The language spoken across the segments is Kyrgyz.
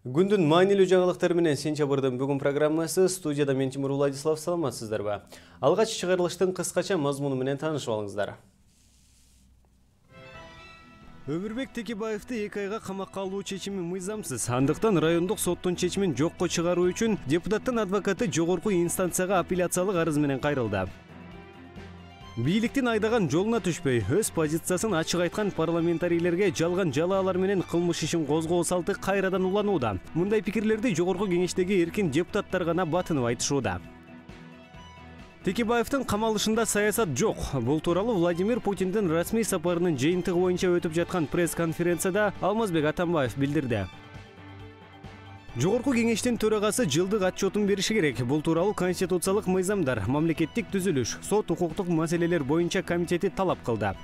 Күндүн маанилүү жаңылыктары менен сентябрдын бүгүн программасы студияда мен Тимур Владислав, саламатсыздарбы? Алгач чыгарылыштын кыскача мазмуну менен таанышып алыңыздар. Өмүрбек Текебаевди 2 айга камакка алуу чечими мыйзамсыз. Андыктан райондук соттун чечимин жокко чыгаруу үчүн депутаттын адвокаты жогорку инстанцияга апелляциялык арыз менен кайрылды. Бийликтин айдаган жолуна түшпөй, өз позициясын ачык айткан парламентарийлерге жалган жалаалар менен кылмыш ишин козгоо салты кайрадан уланууда. Мындай пикирлерди жогорку кеңештеги эркин депутаттар гана батынып айтышууда. Текебаевдин камалышында саясат жок. Бул тууралуу Владимир Путиндин расмий сапарынын жыйынтыгы боюнча өтүп жаткан пресс-конференцияда Алмазбек Атамбаев билдирди. Жогорку кеңештин төрагасы жылдык отчетун бериши керек. Бул тууралуу конституциялык мыйзамдар, мамлекеттик түзүлүш, сот укуктук маселелер боюнча комитети талап кылды.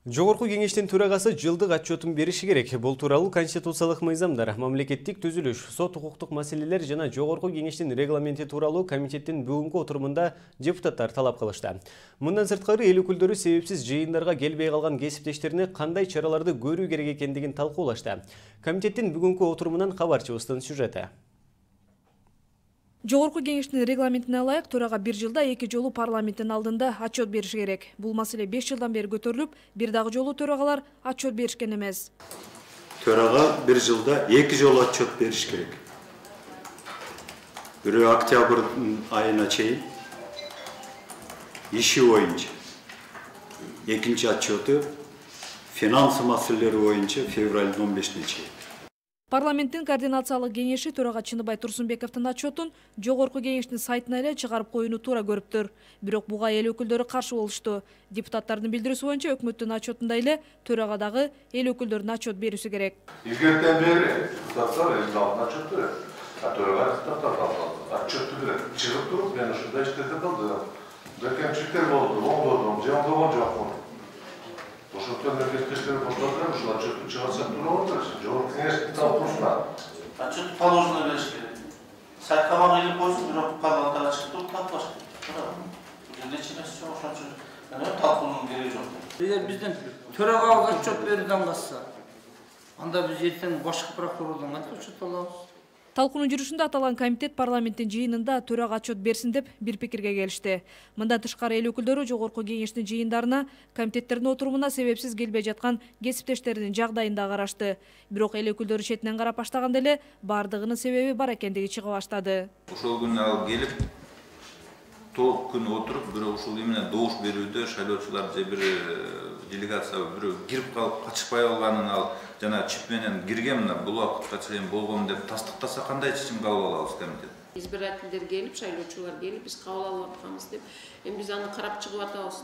Жогорку кеңештин төрагасы жылдык отчетун бериши керек. Бул тууралуу конституциялык мыйзамдар, мамлекеттик түзүлүш, сот укуктук маселелер жана жогорку кеңештин регламенти тууралуу комитеттин бүгүнкү отурумунда депутаттар талап кылышты. Мындан сырткары эл өкүлдөрү себепсиз жыйындарга келбей калган кесиптештерине кандай чараларды көрүү керек экендигин талкуулашты. Комитеттин бүгүнкү отурумунан кабарчыбыздын сюжети. Жогорку кеңештин регламентине ылайык төрага 1 жылда 2 жолу парламенттин алдында отчет бериши керек. Бул маселе 5 жылдан бери көтөрүлүп, бир дагы жолу төрагалар отчет беришкен эмес. Төрага 1 жылда 2 жолу отчет бериш керек. Бирөө октябрь айына чейин иши боюнча, экинчи отчету финансы маселелери боюнча февралдын 15-ине чейин. Парламенттин координациялык кеңеши төрага Чыныбай Турсунбековдун отчетун жогорку кеңештин сайтына эле чыгарып коюуну туура көрүптүр. Бирок буга эл өкүлдөрү каршы болушту. Депутаттардын билдирүүсү боюнча өкмөттүн отчетунда эле төрага дагы эл өкүлдөрүнүн отчет берүүсү керек. Илгертен бери депутаттар элдин отчет берет. Төрага отчетту берет. Чыгып туруп, мен ушундай иштерде калды. Кемчиликтер болду, оңдодум, же оңдогон жокмун. Ошондон кесиптештер коштолдур, ушул отчетту чыгарсак туурабы бериши. Жогорку кеңештин талкуусуна. Отчетту положено бериш керек. Сайтка багып койсун, бирок калгандары чыгып туруп талкуулаш керек. Бул нечемес жок, ошон үчүн талкуунун кереги жок. Эгер бизден төрагага отчет берүүдөн калса, анда биз эртең башкы прокурордон кантип отчет алабыз? Талкуунун жүрүшүндө аталган комитет парламенттин жыйынында төрага отчет берсин деп бир пикирге келишти. Мындан тышкары эл өкүлдөрү жогорку кеңештин жыйындарына, комитеттердин отурумуна себепсиз келбей жаткан кесиптештеринин жагдайын да карашты. Бирок эл өкүлдөрү четинен карап баштаганда эле бардыгынын себеби бар экендиги чыга баштады. Ошол күнү алып келип, толук күн отуруп, бирок ушул эмне добуш берүүдө шайлоочулар же бир делегация бирөө кирип калып качпай калганын ал жана чип менен кирген мына бул убакытка чейин болгон деп тастыктаса кандай чечим кабыл алабыз комитет? Избирательдер келип, шайлоочулар келип, биз кабыл алып атканбыз деп, эми биз аны карап чыгып атабыз.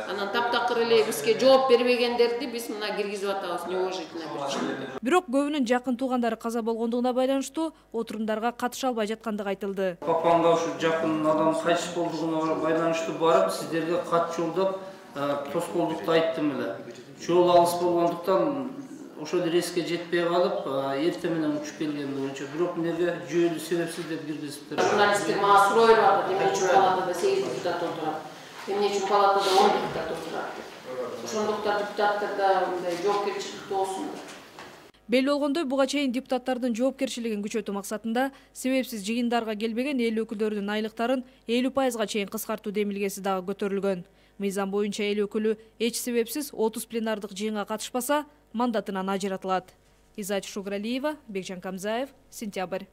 Анан таптакыр эле бизге жооп бербегендерди биз мына киргизип атабыз неуважительно бир. Бирок көбүнүн жакын туугандары каза болгондугуна байланыштуу отурумдарга катыша албай жаткандыгы айтылды. Папамга ушу жакын адам кайтыш болдугуна байланыштуу барып, сиздерге кат жолдоп, тоскоолдукту айттым эле. Жол алыс болгондуктан ошол рейске жетпей калып, эртең менен учуп келген боюнча, бирок эмнеге жүйөлүү себепсиз деп киргизиптир. Журналисттер мага суроо берип атат, эмне үчүн палатада 8 депутат отурат, эмне үчүн палатада 10 депутат отурат. Ошондуктан депутаттарда мындай жоопкерчиликтүү болсун. Белли болгондой, буга чейин депутаттардын жоопкерчилигин күчөтүү максатында себепсиз жыйындарга келбеген эл өкүлдөрүнүн айлыктарын 50% чейин кыскартуу демилгеси дагы көтөрүлгөн. Мыйзам боюнча эл өкүлү эч себепсиз 30 пленардык жыйынга катышпаса, мандатынан ажыратылат. Изач Шугралиева, Бекжан Камзаев, Сентябрь.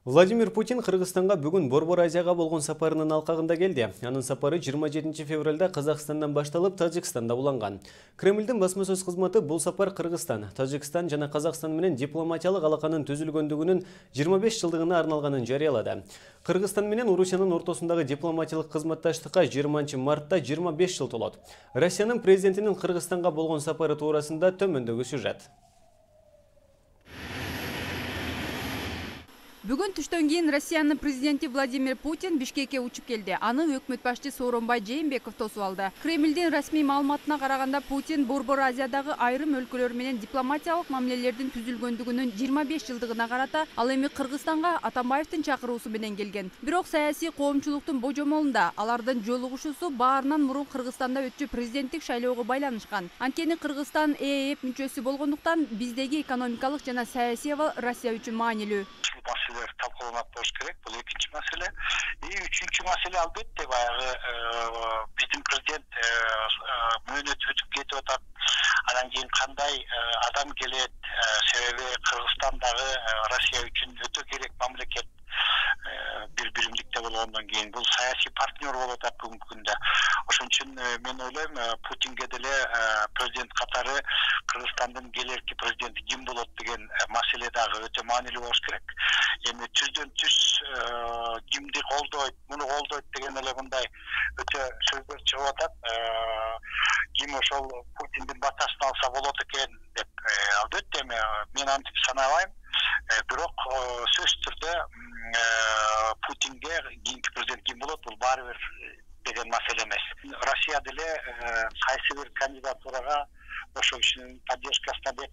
Владимир Путин Кыргызстанга бүгүн Борбор Азияга болгон сапарынын алкагында келди. Анын сапары 27 февралда Казакстандан башталып, Тажикстанда уланган. Кремлдин басма сөз кызматы бул сапар Кыргызстан, Тажикстан жана Казакстан менен дипломатиялык алаканын түзүлгөндүгүнүн 25 жылдыгына арналганын жарыялады. Кыргызстан менен Орусиянын ортосундагы дипломатиялык кызматташтыкка 20 мартта 25 жыл толот. Россиянын президентинин Кыргызстанга болгон сапары туурасында төмөндөгү сюжет. Бүгүн түштөн кийин Россиянын президенти Владимир Путин Бишкекке учуп келди. Аны өкмөт башчы Сооронбай Жээнбеков тосуп алды. Кремлдин расмий маалыматына караганда Путин Борбор Азиядагы айрым өлкөлөр менен дипломатиялык мамилелердин түзүлгөндүгүнүн 25 жылдыгына карата ал эми Кыргызстанга Атамбаевдин чакыруусу менен келген. Бирок саясий коомчулуктун божомолунда алардын жолугушуусу баарынан мурун Кыргызстанда өтчү президенттик шайлоого байланышкан. Анткени Кыргызстан ЭЭП мүчөсү болгондуктан биздеги экономикалык жана саясий абал Россия үчүн маанилүү. Маселелер талкууланат болуш керек. Бул экинчи маселе. Үчүнчү маселе албетте баягы биздин президент мөөнөтү бүтүп кетип атат. Анан кийин кандай адам келет? Себеби Кыргызстандагы Россия үчүн өтө керек мамлекет. Бир биримдикте болгондон кийин бул саясий партнер болуп атат бүгүнкү күндө. Ошон үчүн мен ойлойм, Путинге деле президент катары Кыргызстандын келерки президенти ким болот деген маселе дагы өтө маанилүү болуш керек. Эми түздөн түз кимди колдойт, муну колдойт деген эле мындай өтө сөздөр чыгып атат. Ким ошол Путиндин батасын алса болот экен деп. Албетте мен антип санабайм. Бирок сөзсүз түрдө Путинге кийинки президент ким болот, бул баары бир деген маселе эмес. Россия деле кайсы бир кандидатурага ошол кишинин поддержкасына деп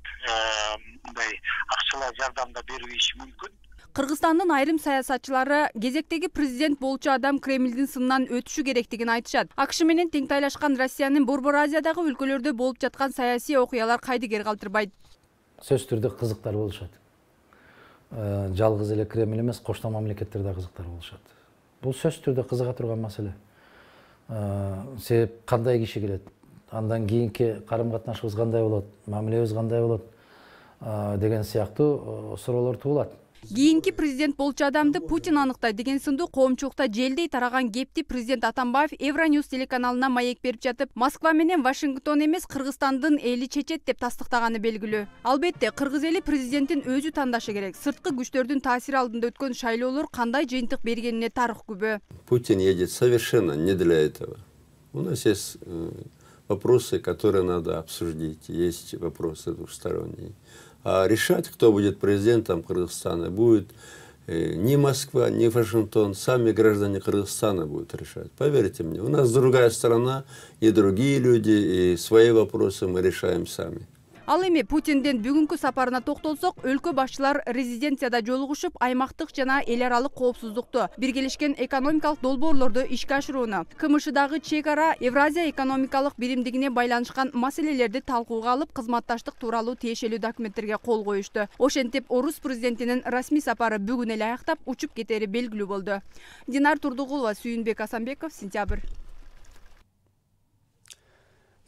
мындай акчалай жардам да бериши мүмкүн. Кыргызстандын айрым саясатчылары кезектеги президент болчу адам Кремлдин сынынан өтүшү керектигин айтышат. АКШ менен тең тайлашкан Россиянын Борбор Азиядагы өлкөлөрдө болуп жаткан саясий окуялар кайдыгер калтырбайт. Сөзсүз түрдө кызыктар болушат. Жалгыз эле Кремль эмес, коштон мамлекеттер да кызыктар болушат. Бул сөзсүз түрдө кызыга турган маселе. Себеп кандай киши келет, андан кийинки карым-катнашыбыз кандай болот, мамилебиз кандай болот деген сыяктуу суроолор туулат. Кийинки президент болчу адамды Путин аныктай деген сындуу коомчулукта желдей тараган кепти президент Атамбаев Евроньюз телеканалына маек берип жатып, Москва менен Вашингтон эмес, Кыргызстандын эли чечет деп тастыктаганы белгилүү. Албетте, кыргыз эли президенттин өзү тандашы керек. Сырткы күчтөрдүн таасири алдында өткөн шайлоолор кандай жыйынтык бергенине тарых күбө. Путин едет совершенно не для этого. У нас есть вопросы, которые надо обсудить. Есть вопросы двусторонние. А решать, кто будет президентом Кыргызстана, будет не Москва, не Вашингтон, сами граждане Кыргызстана будут решать. Поверьте мне, у нас другая страна, и другие люди, и свои вопросы мы решаем сами. Ал эми Путиндин бүгүнкү сапарына токтолсок, өлкө башчылар резиденцияда жолугушуп, аймактык жана эл аралык коопсуздукту, биргелешкен экономикалык долбоорлорду ишке ашырууну, КМШдагы чек ара Евразия экономикалык биримдигине байланышкан маселелерди талкууга алып, кызматташтык тууралуу тиешелүү документтерге кол коюшту. Ошентип, орус президентинин расмий сапары бүгүн эле аяктап учуп кетери белгилүү болду. Динар Турдугулова, Сүйүнбек Асанбеков, Сентябрь.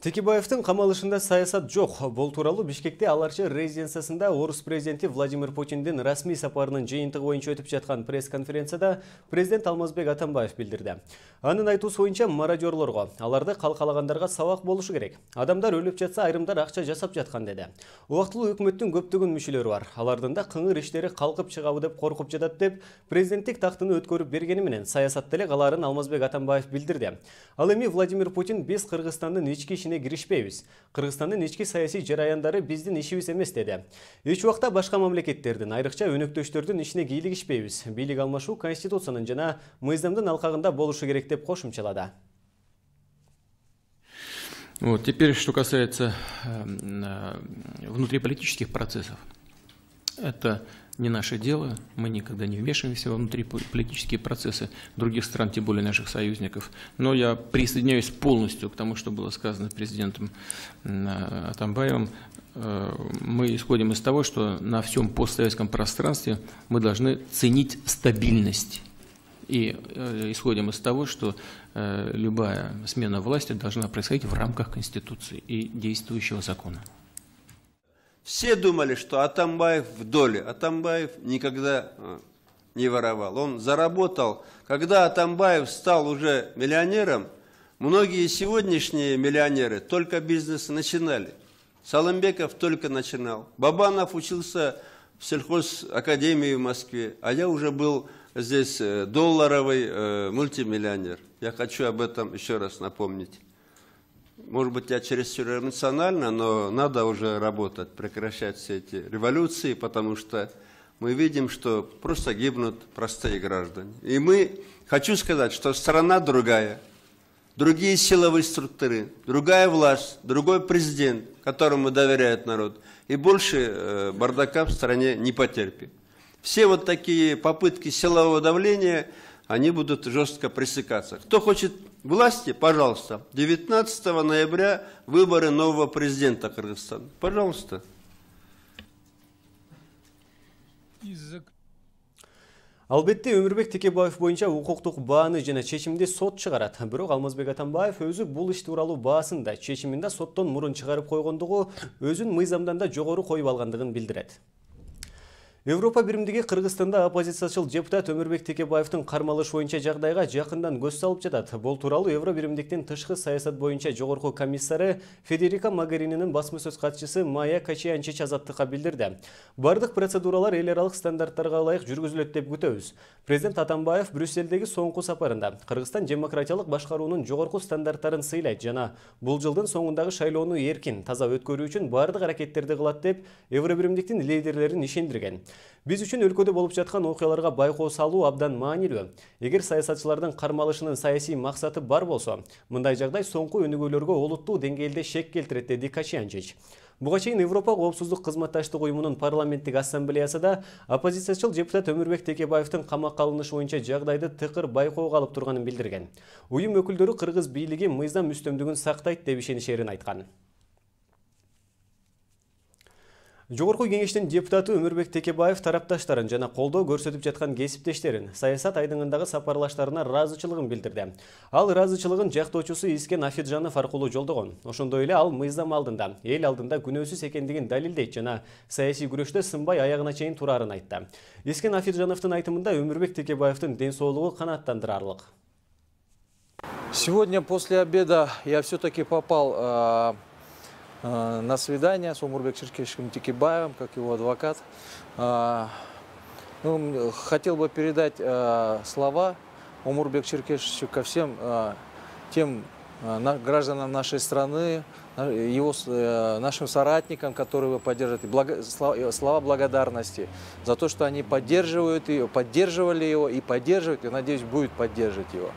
Текебаевдин камалышында саясат жок. Бул тууралуу Бишкекте Аларчы резиденциясында орус президенти Владимир Путиндин расмий сапарынын жыйынтыгы боюнча өтүп жаткан пресс-конференцияда президент Алмазбек Атамбаев билдирди. Анын айтуусу боюнча мародёрлорго, аларды калкалагандарга сабак болушу керек. Адамдар өлүп жатса, айрымдар акча жасап жаткан деди. Убактылуу өкмөттүн көптөгөн мүчөлөрү бар. Алардын да кыңыр иштери калкып чыгабы деп коркуп жатат деп президенттик тактыны өткөрүп бергени менен саясатта эле калаарын Алмазбек Атамбаев билдирди. Ал эми Владимир Путин биз Кыргызстандын ички ишине киришпейбиз. Кыргызстандын ички саясий жараяндары биздин ишибиз эмес деди. Эч убакта башка мамлекеттердин, айрыкча өнөктөштөрдүн ишине кийлигишпейбиз. Бийлик алмашуу конституциянын жана мыйзамдын алкагында болушу керек деп кошумчалады. Вот, теперь, что касается внутриполитических процессов. Это не наше дело, мы никогда не вмешиваемся во внутриполитические процессы других стран, тем более наших союзников. Но я присоединяюсь полностью к тому, что было сказано президентом Атамбаевым. Мы исходим из того, что на всем постсоветском пространстве мы должны ценить стабильность. И исходим из того, что любая смена власти должна происходить в рамках Конституции и действующего закона. Все думали, что Атамбаев в доле. Атамбаев никогда не воровал. Он заработал. Когда Атамбаев стал уже миллионером, многие сегодняшние миллионеры только бизнес начинали. Салымбеков только начинал. Бабанов учился в сельхозакадемии в Москве, а я уже был здесь долларовый мультимиллионер. Я хочу об этом еще раз напомнить. Может быть, я чересчур эмоционально, но надо уже работать, прекращать все эти революции, потому что мы видим, что просто гибнут простые граждане. И хочу сказать, что страна другая, другие силовые структуры, другая власть, другой президент, которому доверяет народ, и больше бардака в стране не потерпит. Все вот такие попытки силового давления, они будут жестко пресекаться. Кто хочет власти, пожалуйста, 19 ноября выборы нового президента Кыргызстана. Пожалуйста. Албетте Өмүрбек Текебаев боюнча укуктук бааны жана чечимди сот чыгарат. Бирок Алмазбек Атамбаев өзү бул иш тууралуу баасында чечиминде соттон мурун чыгарып койгондугу өзүн мыйзамдан да жогору коюп алгандыгын билдирет. Европа биримдиги Кыргызстанда оппозициячыл депутат Өмүрбек Текебаевдин кармалыш боюнча жагдайга жакындан көз салып жатат. Бул тууралуу Евро биримдиктин тышкы саясат боюнча жогорку комиссары Федерика Могерининин басма сөз катчысы Майя Качиянчич азаттыкка билдирди. Бардык процедуралар эл аралык стандарттарга ылайык жүргүзүлөт деп күтөбүз. Президент Атамбаев Брюссельдеги соңку сапарында Кыргызстан демократиялык башкаруунун жогорку стандарттарын сыйлайт жана бул жылдын соңундагы шайлоону эркин, таза өткөрүү үчүн бардык аракеттерди кылат деп Евро биримдиктин лидерлерин ишендирген. Биз үчүн өлкөдө болуп жаткан окуяларга байкоо салуу абдан маанилүү. Эгер саясатчылардын кармалышынын саясий максаты бар болсо, мындай жагдай соңку өнүгүүлөргө олуттуу деңгээлде шек келтирет, деди Качиянчич. Буга чейин Европа коопсуздук кызматташтык уюмунун парламенттик ассамблеясында оппозициячыл депутат Өмүрбек Текебаевдин камакка алынышы боюнча жагдайды тыкыр байкоого алып турганын билдирген. Уюм өкүлдөрү Кыргыз бийлиги мыйзам үстөмдүгүн сактайт деп ишенишерин айткан. Жогорку кеңештин депутаты Өмүрбек Текебаев тарапташтарын жана колдоо көрсөтүп жаткан кесиптештерин саясат айдыңындагы сапарлаштарына ыраазычылыгын билдирди. Ал ыраазычылыгын жактоочусу Искен Афиджанов аркылуу жолдогон. Ошондой эле ал мыйзам алдында, эл алдында күнөөсүз экендигин далилдейт жана саясий күрөштө сынбай аягына чейин турарын айтты. Искен Афиджановдун айтымында Өмүрбек Текебаевдин ден соолугу канааттандырарлык. Сегодня после обеда я все-таки попал на свидание с Омурбек Черкешевым Текебаевым, как его адвокат. Хотел бы передать слова Омурбек Черкешевичу ко всем тем гражданам нашей страны, нашим соратникам, которые его поддерживают, слова благодарности за то, что они поддерживают его, поддерживали его и поддерживают, и, надеюсь, будут поддерживать его.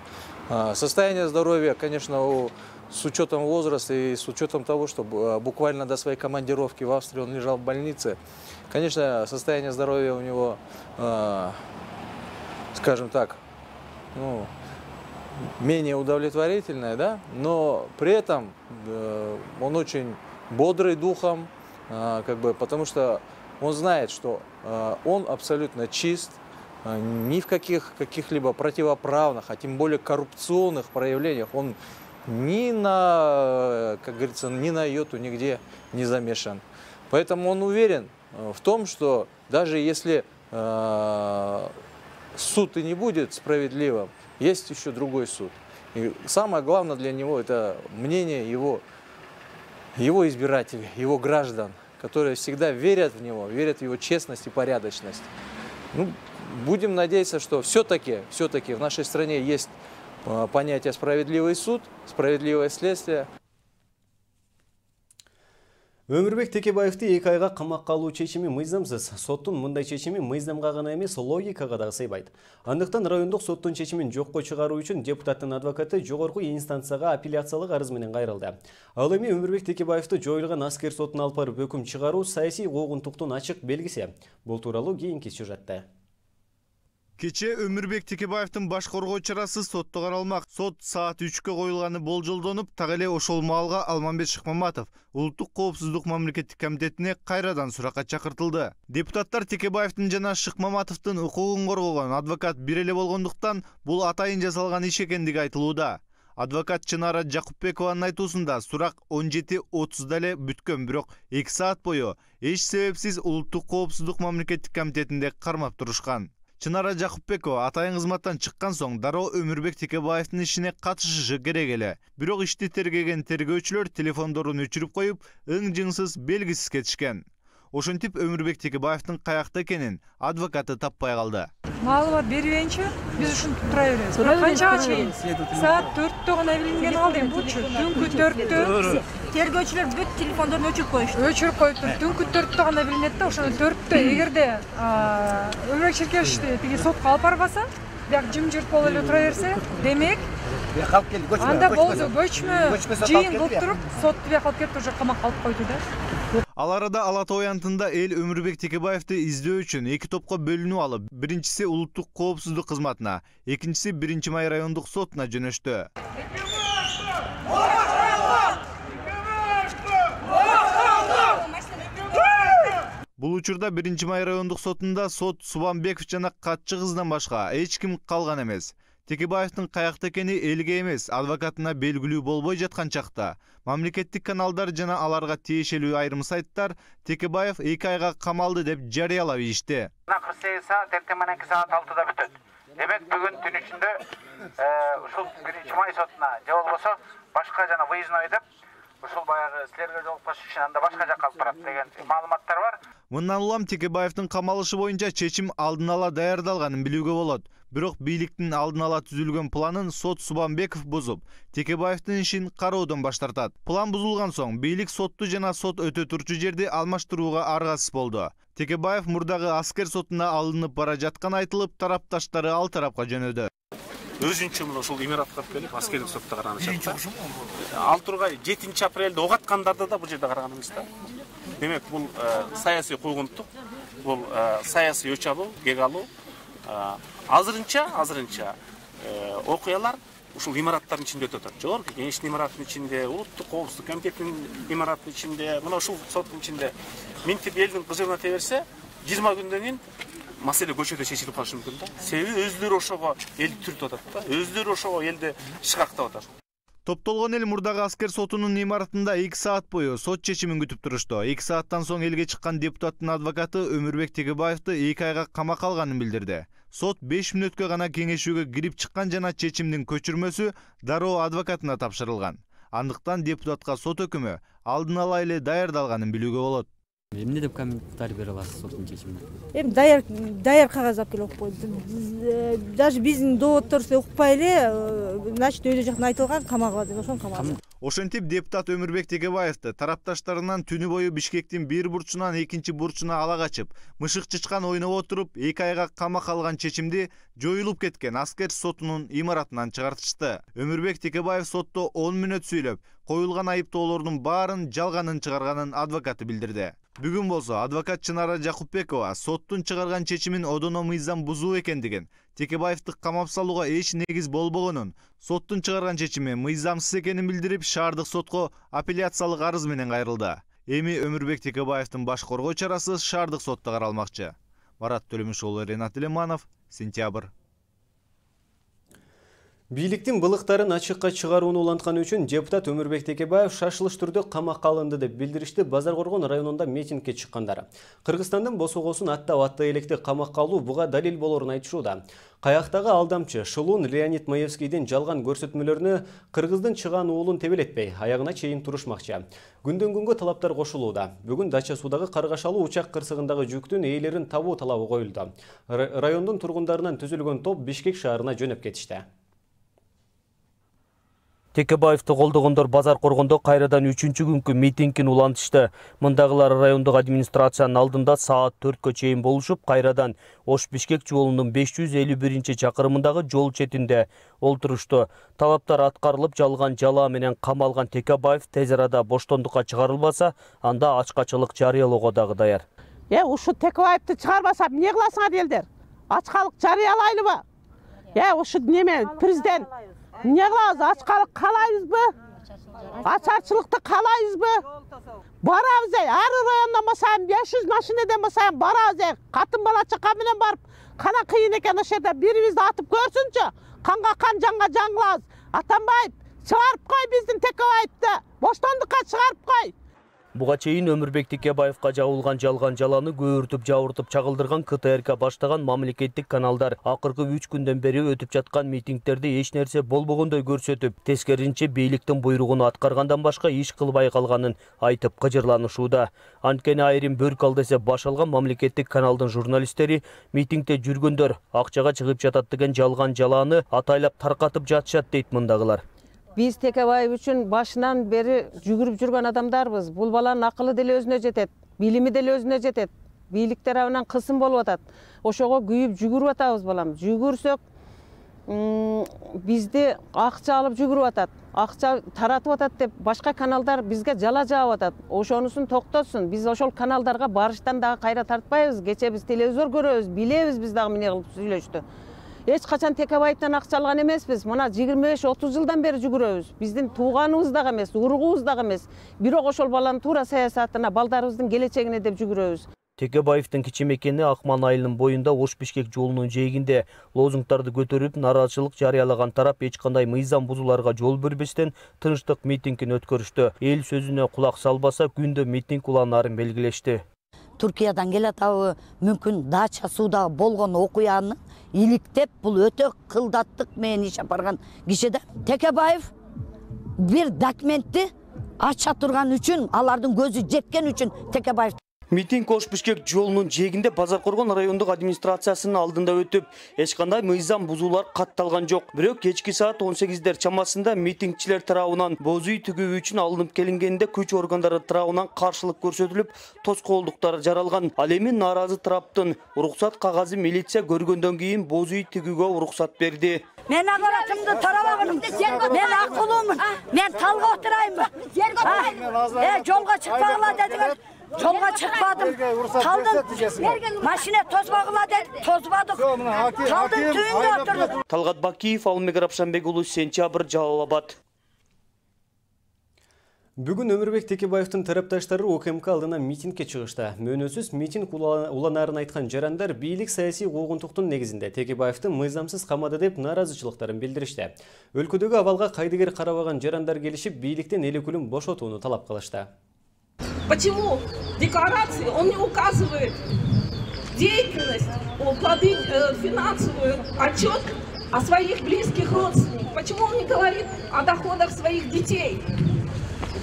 Состояние здоровья, конечно, с учетом возраста и с учетом того, что буквально до своей командировки в Австрии он лежал в больнице, конечно, состояние здоровья у него, скажем так, менее удовлетворительное, да? Но при этом он очень бодрый духом, потому что он знает, что он абсолютно чист, ни в каких-либо противоправных, а тем более коррупционных проявлениях он ни на, как говорится, ни на йоту нигде не замешан. Поэтому он уверен в том, что даже если суд и не будет справедливым, есть еще другой суд. И самое главное для него — это мнение его избирателей, его граждан, которые всегда верят в него, верят в его честность и порядочность. Будем надеяться, что все-таки в нашей стране есть понятие справедливый суд, справедливое следствие. Өмүрбек Текебаевди 2 айга камакка алуу чечими мыйзамсыз. Соттун мындай чечими мыйзамга гана эмес, логикага да сыйбайт. Андыктан райондук соттун чечимин жокко чыгаруу үчүн депутаттын адвокаты жогорку инстанцияга апелляциялык арыз менен кайрылды. Ал эми Өмүрбек Текебаевди жоюлган аскер сотуна алып барып өкүм чыгаруу саясий куугунтуктун ачык белгиси. Бул тууралуу кийинки сюжетте. Кече Өмүрбек Текебаевдин баш коргоо чарасы сотто каралмак. Сот саат 3-кө коюлганы болжолдонуп, так эле ошол маалга Алмамбет Шыкмаматов Улуттук коопсуздук мамлекеттик комитетине кайрадан суракка чакыртылды. Депутаттар Текебаевдин жана Шыкмаматовдун укугун коргогон адвокат бир эле болгондуктан бул атайын жасалган иш экендиги айтылууда. Адвокат Чынара Жакупбекованын айтуусунда сурак 17:30 эле бүткөн, бирок 2 саат бою эч себепсиз Улуттук коопсуздук мамлекеттик комитетинде кармап турушкан. Чынара Жакупбекова атайын кызматтан чыккан соң дароо Өмүрбек Текебаевдин ишине катышышы керек эле. Бирок ишти тергеген тергөөчүлөр телефондорун өчүрүп коюп, ың-жыңсыз белгисиз кетишкен. Ошентип Өмүрбек Текебаевдин каякта экенин адвокаты таппай калды. Маалымат бербейинче биз ушинтип тура беребиз. Канчага чейин? Саат 4-тө гана билинген алды. Бучу түнкү 4-тө тергөөчүлөр бүт телефондорун өчүрүп коюшту. Өчүрүп коюптур. Түнкү 4-тө гана билинет да, ошондо 4-тө эгерде Өмүрбек Черкешевди тиги сотко алып барбаса, бияк жымжырт болуп эле тура берсе, демек анда болду, көчмө жыйын кылып туруп, сотто бияк алып келип уже камакка алып койду да. Ал арада Ала Тоо аянтында эл Өмүрбек Текебаевди издөө үчүн эки топко бөлүнүп алып, биринчиси улуттук коопсуздук кызматына, экинчиси 1-Май райондук сотуна жөнөштү. Бул учурда 1-Май райондук сотунда сот Субанбеков жана катчы кыздан башка эч ким калган эмес. Текебаевдин каякта экени элге эмес, адвокатына белгилүү болбой жаткан чакта мамлекеттик каналдар жана аларга тиешелүү айрым сайттар Текебаев 2 айга камалды деп жарыялап ийишти. 48 саат, эртең мененки саат 6-да бүтөт. Демек бүгүн түн ичинде ушул 1-Май сотуна же болбосо башка жана выездной деп ушул баягы силерге жолукпаш үчүн анда башка жакка алып барат деген маалыматтар бар. Мындан улам Текебаевдин камалышы боюнча чечим алдын ала даярдалганын билүүгө болот. Бирок бийликтин алдын ала түзүлгөн планын сот Субанбеков бузуп, Текебаевдин ишин кароодон баш тартат. План бузулган соң бийлик сотту жана сот өтө турчу жерди алмаштырууга аргасыз болду. Текебаев мурдагы аскер сотуна алынып бара жаткан айтылып, тарапташтары ал тарапка жөнөдү. Өзүнчө мына ушул имаратка келип аскердик сотто караныш. Ал тургай 7 апрелде ок аткандарды да бул жерде караган эмес да. Демек бул саясий куугунтук, бул саясий өч алуу, кек алуу. Азырынча окуялар ушул имараттардын ичинде өтөт. Жогорку кеңештин имараттын ичинде, улуттук коопсуздук комитетинин имараттын ичинде, мына ушул соттун ичинде минтип элдин кыжыгына теберсе, 20 күндөн кийин маселе көчөдө чечилип калышы мүмкүн да. Себеби өздөрү ошого элди түртүп атат да. Өздөрү ошого элди шыкактап атат. Топтолгон эл мурдагы аскер сотунун имаратында 2 саат бою сот чечимин күтүп турушту. 2 сааттан соң элге чыккан депутаттын адвокаты Өмүрбек Текебаевди 2 айга камакка алганын билдирди. Сот 5 мүнөткө гана кеңешүүгө кирип чыккан жана чечимдин көчүрмөсү дароо адвокатына тапшырылган. Андыктан депутатка сот өкүмү алдын ала эле даярдалганын билүүгө болот. Эмне деп комментарий бере аласыз соттун чечимине? Эми даяр кагаз алып келип окуп койду. Даже биздин доводторубузду укпай эле, значит, өйдө жактан айтылган камагыла деп ошону камагыла. Ошентип депутат Өмүрбек Текебаевди тарапташтарынан түнү бою Бишкектин бир бурчунан экинчи бурчуна ала качып, мышык чычкан ойноп отуруп, 2 айга камакка алган чечимди жоюлуп кеткен аскер сотунун имаратынан чыгартышты. Өмүрбек Текебаев сотто 10 мүнөт сүйлөп, коюлган айыптоолордун баарын жалганын чыгарганын адвокаты билдирди. Бүгүн болсо адвокат Чынара Жакупбекова соттун чыгарган чечимин одоно мыйзам бузуу экендигин, Текебаевди камап салууга эч негиз болбогонун, соттун чыгарган чечими мыйзамсыз экенин билдирип, шаардык сотко апелляциялык арыз менен кайрылды. Эми Өмүрбек Текебаевдин баш коргоо чарасы шаардык сотто каралмакчы. Марат Төлөмүш уулу, Ренат Элеманов, Сентябрь. Бийликтин былыктарын ачыкка чыгарууну улантканы үчүн депутат Өмүрбек Текебаев шашылыш түрдө камакка алынды деп билдиришти Базаркоргон районунда митингге чыккандар. Кыргызстандын босогосун аттап электи камакка алуу буга далил болорун айтышууда. Каяктагы алдамчы Шылуун Леонид Маевскийдин жалган көрсөтмөлөрүнө кыргыздын чыган уулун тебелетпей, аягына чейин турушмакчы. Күндөн күнгө талаптар кошулууда. Бүгүн Дача суудагы Каргашалуу учак кырсыгындагы жүктүн ээлерин табуу талабы коюлду. Райондун тургундарынан түзүлгөн топ Бишкек шаарына жөнөп кетишти. Текебаевди колдогондор Базаркоргондо кайрадан 3-күнкү митингин улантышты. Мындагылар райондук администрациянын алдында саат 4кө чейин болушуп, кайрадан Ош-Бишкек жолунун 551-чакырымындагы жол четинде олтурушту. Талаптар аткарылып, жалган жала менен камалган Текебаев тез арада боштондукка чыгарылбаса, анда ачкачылык жарыялоого дагы даяр. Ушу Текебаевди чыгарбаса эмне кыласыңар элдер? Ачкалык жарыялайлыбы? Ушу неме президент эмне кылабыз? Ачкалык каалайбызбы? Ачарчылыкты каалайбызбы? Барабыз, ар райондон басайын 500 машинеден басайын барабыз. Катын бала чака менен барып, кана кыйын экен ошол жерде бирибизди атып көрсүнчү. Канга кан, жанга жан кылабыз. Атамбаев, чыгарып кой биздин Текебаевди. Боштондукка чыгарып кой. Буга чейин Өмүрбек Текебаевка жабылган жалган жаланы көөртүп жабыртып чагылдырган КТРК баштаган мамлекеттик каналдар акыркы 3 күндөн бери өтүп жаткан митингдерди эч нерсе болбогондой көрсөтүп, тескерисинче бийликтин буйругун аткаргандан башка иш кылбай калганын айтып кыжырланышууда. Анткени айрым бөрк ал десе баш алган мамлекеттик каналдын журналисттери митингде жүргөндөр акчага чыгып жатат деген жалган жаланы атайлап таркатып жатышат дейт мындагылар. Биз Текебаев үчүн башынан бери жүгүрүп жүргөн адамдарбыз. Бул баланын акылы деле өзүнө жетет, билими деле өзүнө жетет. Бийлик тарабынан кысым болуп атат. Ошого күйүп жүгүрүп атабыз балам. Жүгүрсөк, бизди акча алып жүгүрүп атат. Акча таратып атат деп башка каналдар бизге жала жаап атат. Ошонусун токтотсун. Биз ошол каналдарга барыштан дагы кайра тартпайбыз. Кече биз телевизор көрөбүз, билебиз биз дагы эмне кылып сүйлөштү. Эч качан Текебаевден акча алган эмеспиз. Мына 25-30 жылдан бери жүгүрөбүз. Биздин тууганыбыз дагы эмес, уругубуз дагы эмес. Бирок ошол баланын туура саясатына, балдарыбыздын келечегине деп жүгүрөбүз. Текебаевдин кичи мекени Акман айылынын боюнда Ош-Бишкек жолунун жээгинде лозунгдарды көтөрүп, нааразычылык жарыялаган тарап эч кандай мыйзам бузууларга жол бербестен тынчтык митингин өткөрүштү. Эл сөзүнө кулак салбаса, күндө митинг уланаарын белгилешти. Туркиядан келатабы, мүмкүн дача сууда болгон окуяны иликтеп, бул өтө кылдаттык менен иш апарган киши да. Текебаев бир документти ача турган үчүн, алардын көзү жеткен үчүн Текебаев. Митинг Ош-Бишкек жолунун жээгинде Базар Коргон райондук администрациясынын алдында өтүп, эч кандай мыйзам бузуулар катталган жок. Бирок кечки саат 18дер чамасында митингчилер тарабынан боз үй тигүү үчүн алынып келингенде күч органдары тарабынан каршылык көрсөтүлүп, тоскоолдуктар жаралган. Ал эми нааразы тараптын уруксат кагазы милиция көргөндөн кийин боз үй тигүүгө уруксат берди. Мен аппаратымды тарабагым. Мен акылумун. Мен талга отурайынбы? Жолго чыкпагыла дедиңер. Жолга чыкпадым. Талдым. Машина тозбагыла деп тозбадык. Талдын түбүндө отурдук. Талгат Бакиев, Алмек Рапшанбек уулу, Сентябрь, Жалал Абад. Бүгүн Өмүрбек Текебаевдин тарапташтары УКМК алдына митингке чыгышты. Мөөнөсүз митинг уланаарын айткан жарандар бийлик саясий куугунтуктун негизинде Текебаевдин мыйзамсыз камады деп нааразычылыктарын билдиришти. Өлкөдөгү абалга кайдыгер карабаган жарандар келишип, бийликтен эл өкүлүн бошотууну талап кылышты. Почему в декларации он не указывает деятельность, плоды, финансовый отчет о своих близких родственниках? Почему он не говорит о доходах своих детей,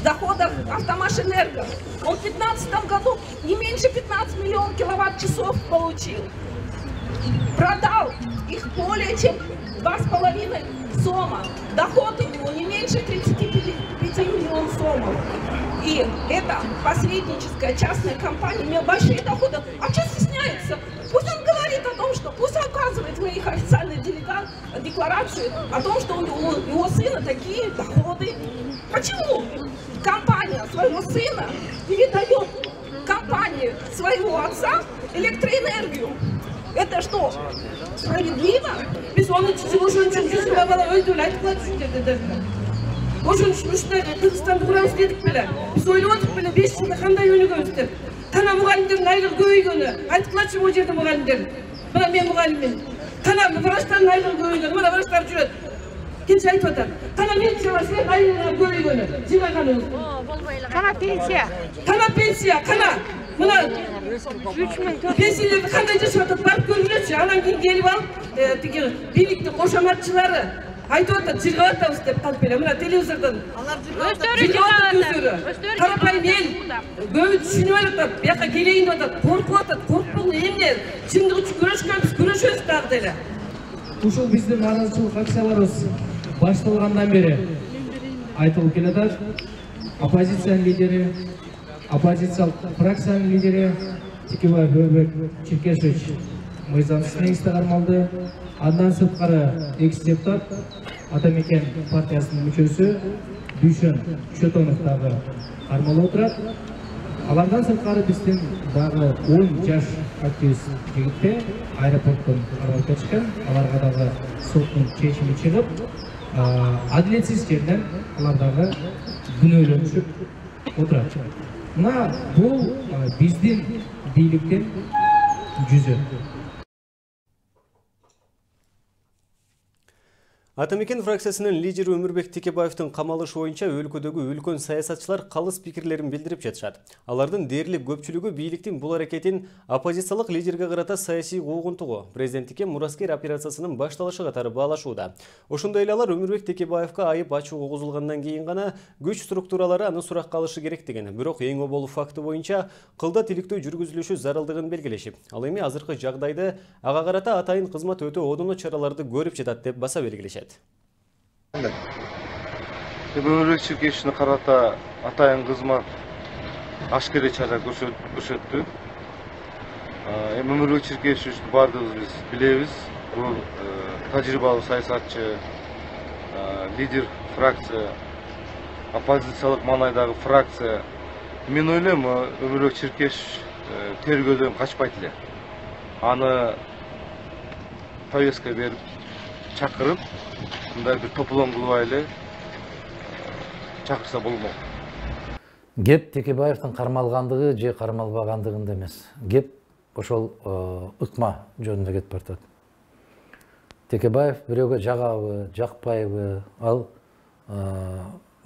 доходах Автомашэнерго? Он в 2015 году не меньше 15 миллионов киловатт-часов получил. Продал их более чем 2,5 сома. Доход у него не меньше 35 миллионов сомов. И это посредническая частная компания имела большие доходы. А что стесняется? Пусть он говорит о том, что пусть указывает в моих официальных декларациях о том, что у его сына такие доходы. Почему компания своего сына передает компании своего отца электроэнергию? Это что, справедливо? Без он Ошон үчүн Кыргызстанды курабыз дедик беле. Биз ойлоп беле 5 жылда кандай өнүгөбүз деп. Тана мугалимдердин айлыгы көбөйгөнү. Айткылачы бул жерде мугалимдер. Мына мен мугалиммин. Тана врачтардын айлыгы көбөйгөнү. Мына врачтар жүрөт. Кенче айтып атат. Тана медицина силердин айлыгы көбөйгөнү. Жибайганыбыз. Тана пенсия. Тана пенсия. Кана. Мына 3000 пенсиялерди кандай жашап атат? Барып көргүлөчү. Анан кийин келип алып, тиги бийликтин кошоматчылары айтып атат, жыргап атабыз деп калып эле. Мына телевизордон өздөрү карапайым эл көбү түшүнүп атат, бияка келейин деп атат, коркуп атат. Коркпогон эмне? Чындык үчүн күрөшкөнбүз, күрөшөбүз дагы деле. Ушул биздин нааразычылык акцияларыбыз башталгандан бери айтылып келатат. Оппозициянын лидери, оппозициялык фракциянын лидери Текебаев Өмүрбек Черкешевич мыйзамсыз негизде кармалды. Андан сырткары экс-депутат Атамекен партиясынын мүчөсү Дүйшөн Чөтөнов дагы кармалып отурат. Алардан сырткары биздин дагы 10 жаш активист жигитте аэропорттон карап кетишкен. Аларга дагы соттун чечими чыгып, адилетсиз жерден алар дагы күнөөлөнүшүп отурат. Мына бул биздин бийликтин жүзү. Атамекен фракциясынын лидери Өмүрбек Текебаевдин камалышы боюнча өлкөдөгү үлкөн саясатчылар калыс пикирлерин билдирип жатышат. Алардын дээрлик көпчүлүгү бийликтин бул аракетин оппозициялык лидерге карата саясий куугунтугу, президенттикке мураскер операциясынын башталышы катары баалашууда. Ошондой эле алар Өмүрбек Текебаевга айып ачуу козулгандан кийин гана күч структуралары аны суракка алышы керектигин, бирок эң обол факты боюнча кылда тиликтөө жүргүзүлүшү зарылдыгын белгилешип, ал эми азыркы жагдайды ага карата атайын кызмат өтө одоно чараларды көрүп жатат деп баса белгилешет. Өмүрбек Черкешевичине карата атайын кызмат ашкере чара көрсөттү. Өмүрбек Черкешевичти баардыгыбыз биз билебиз. Бул тажрыйбалуу саясатчы, лидер фракция, оппозициялык маанайдагы фракция. Мен ойлойм, Өмүрбек Черкешевич тергөөдөн качпайт эле. Аны повестка берип, чакырып, мындай бир топлом кылбай эле чакырса болмок. Кеп Текебаевдин кармалгандыгы же кармалбагандыгында эмес. Кеп ошол ыкма жөнүндө кетип баратат. Текебаев бирөөгө жагабы, жакпайбы, ал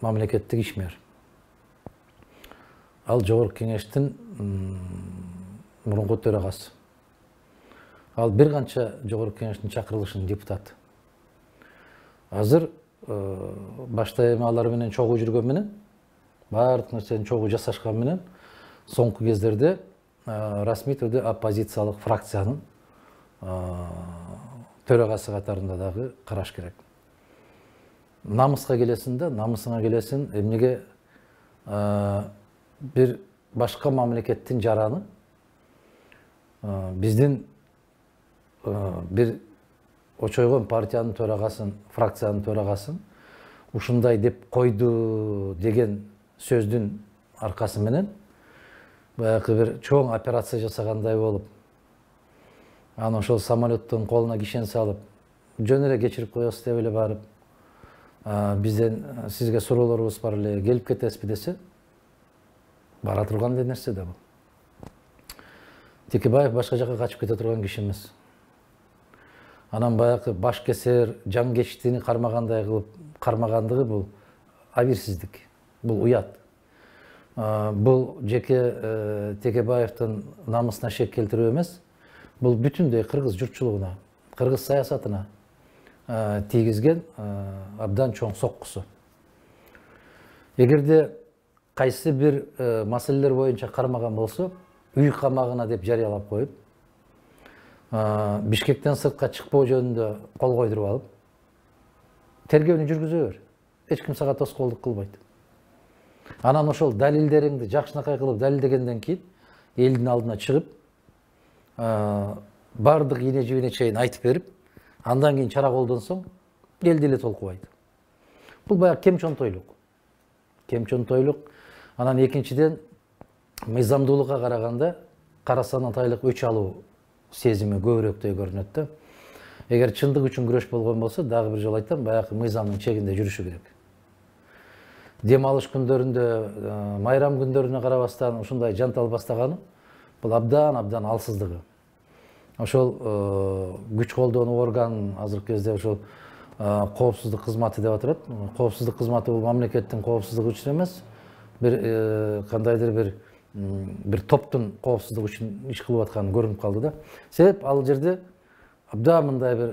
мамлекеттик ишмер. Ал Жогорку Кеңештин мурунку төрагасы. Ал бир канча Жогорку Кеңештин чакырылышынын депутаты. Азыр башта эми алар менен чогуу жүргөн менен, баардык нерсени чогуу жасашкан менен, соңку кездерде расмий түрдө оппозициялык фракциянын төрагасы катарында дагы караш керек. Намыска келесин да, намысыңа келесин, эмнеге бир башка мамлекеттин жараны биздин бир очойгон партиянын төрагасын, фракциянын төрагасын ушундай деп койду деген сөздүн аркасы менен баягы бир чоң операция жасагандай болуп, аны ошол самолеттун колуна кишен салып, жөн эле кечирип коесуз деп эле барып, бизден сизге суроолорубуз бар эле, келип кетесизби десе, бара турган нерсе да бул. Текебаев башка жака качып кете турган киши эмес. Анан баягы баш кесер, жан кечтини кармагандай кылып кармагандыгы бул абийирсиздик, бул уят. Бул жеке Текебаевдин намысына шек келтирүү эмес, бул бүтүндөй кыргыз журтчулугуна, кыргыз саясатына тийгизген абдан чоң соккусу. Эгерде кайсы бир маселелер боюнча кармаган болсо, үй камагына деп жарыялап коюп, Бишкектен сыртка чыкпоо жөнүндө кол койдуруп алып, тергөөнү жүргүзө бер. Эч ким сага тоскоолдук кылбайт. Анан ошол далилдериңди жакшынакай кылып далилдегенден кийин элдин алдына чыгып, бардык ийне жибине чейин айтып берип, андан кийин чара колдонсоң, эл деле толкубайт. Бул баягы кемчонтойлук. Кемчонтойлук. Анан экинчиден мыйзамдуулукка караганда карасан атайлык өч алуу сезими көбүрөөктөй көрүнөт да. Эгер чындык үчүн күрөш болгон болсо, дагы бир жолу айтам, баягы мыйзамдын чегинде жүрүшү керек. Дем алыш күндөрүндө, майрам күндөрүнө карабастан ушундай жантал бастаганы, бул абдан алсыздыгы. Ошол күч колдонуу орган азыркы кезде ошол коопсуздук кызматы деп атырат. Коопсуздук кызматы бул мамлекеттин коопсуздугу үчүн эмес, бир кандайдыр бир топтун коопсуздугу үчүн иш кылып атканы көрүнүп калды да. Себеп ал жерде абдан мындай бир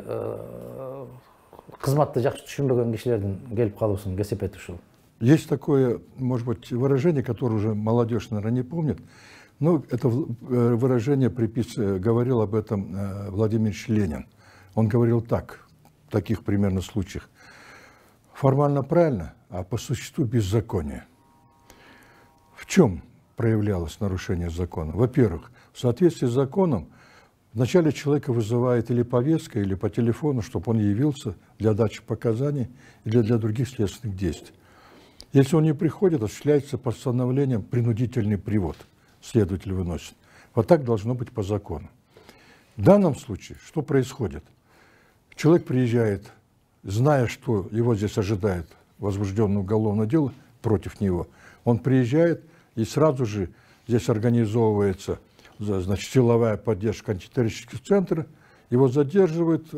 кызматты жакшы түшүнбөгөн кишилердин келип калуусун кесепети ушул. Есть такое, может быть, выражение, которое уже молодежь, наверное, не помнит, но это выражение говорил об этом Владимир Ильич Ленин. Он говорил так, в таких примерно случаях: формально правильно, а по существу беззаконие. В чем проявлялось нарушение закона? Во-первых, в соответствии с законом вначале человека вызывает или повестка, или по телефону, чтобы он явился для дачи показаний или для других следственных действий. Если он не приходит, осуществляется постановлением принудительный привод, следователь выносит. Вот так должно быть по закону. В данном случае что происходит? Человек приезжает, зная, что его здесь ожидает возбужденное уголовное дело против него, он приезжает, и сразу же здесь организовывается, значит, силовая поддержка антитеррористических центров, его задерживают,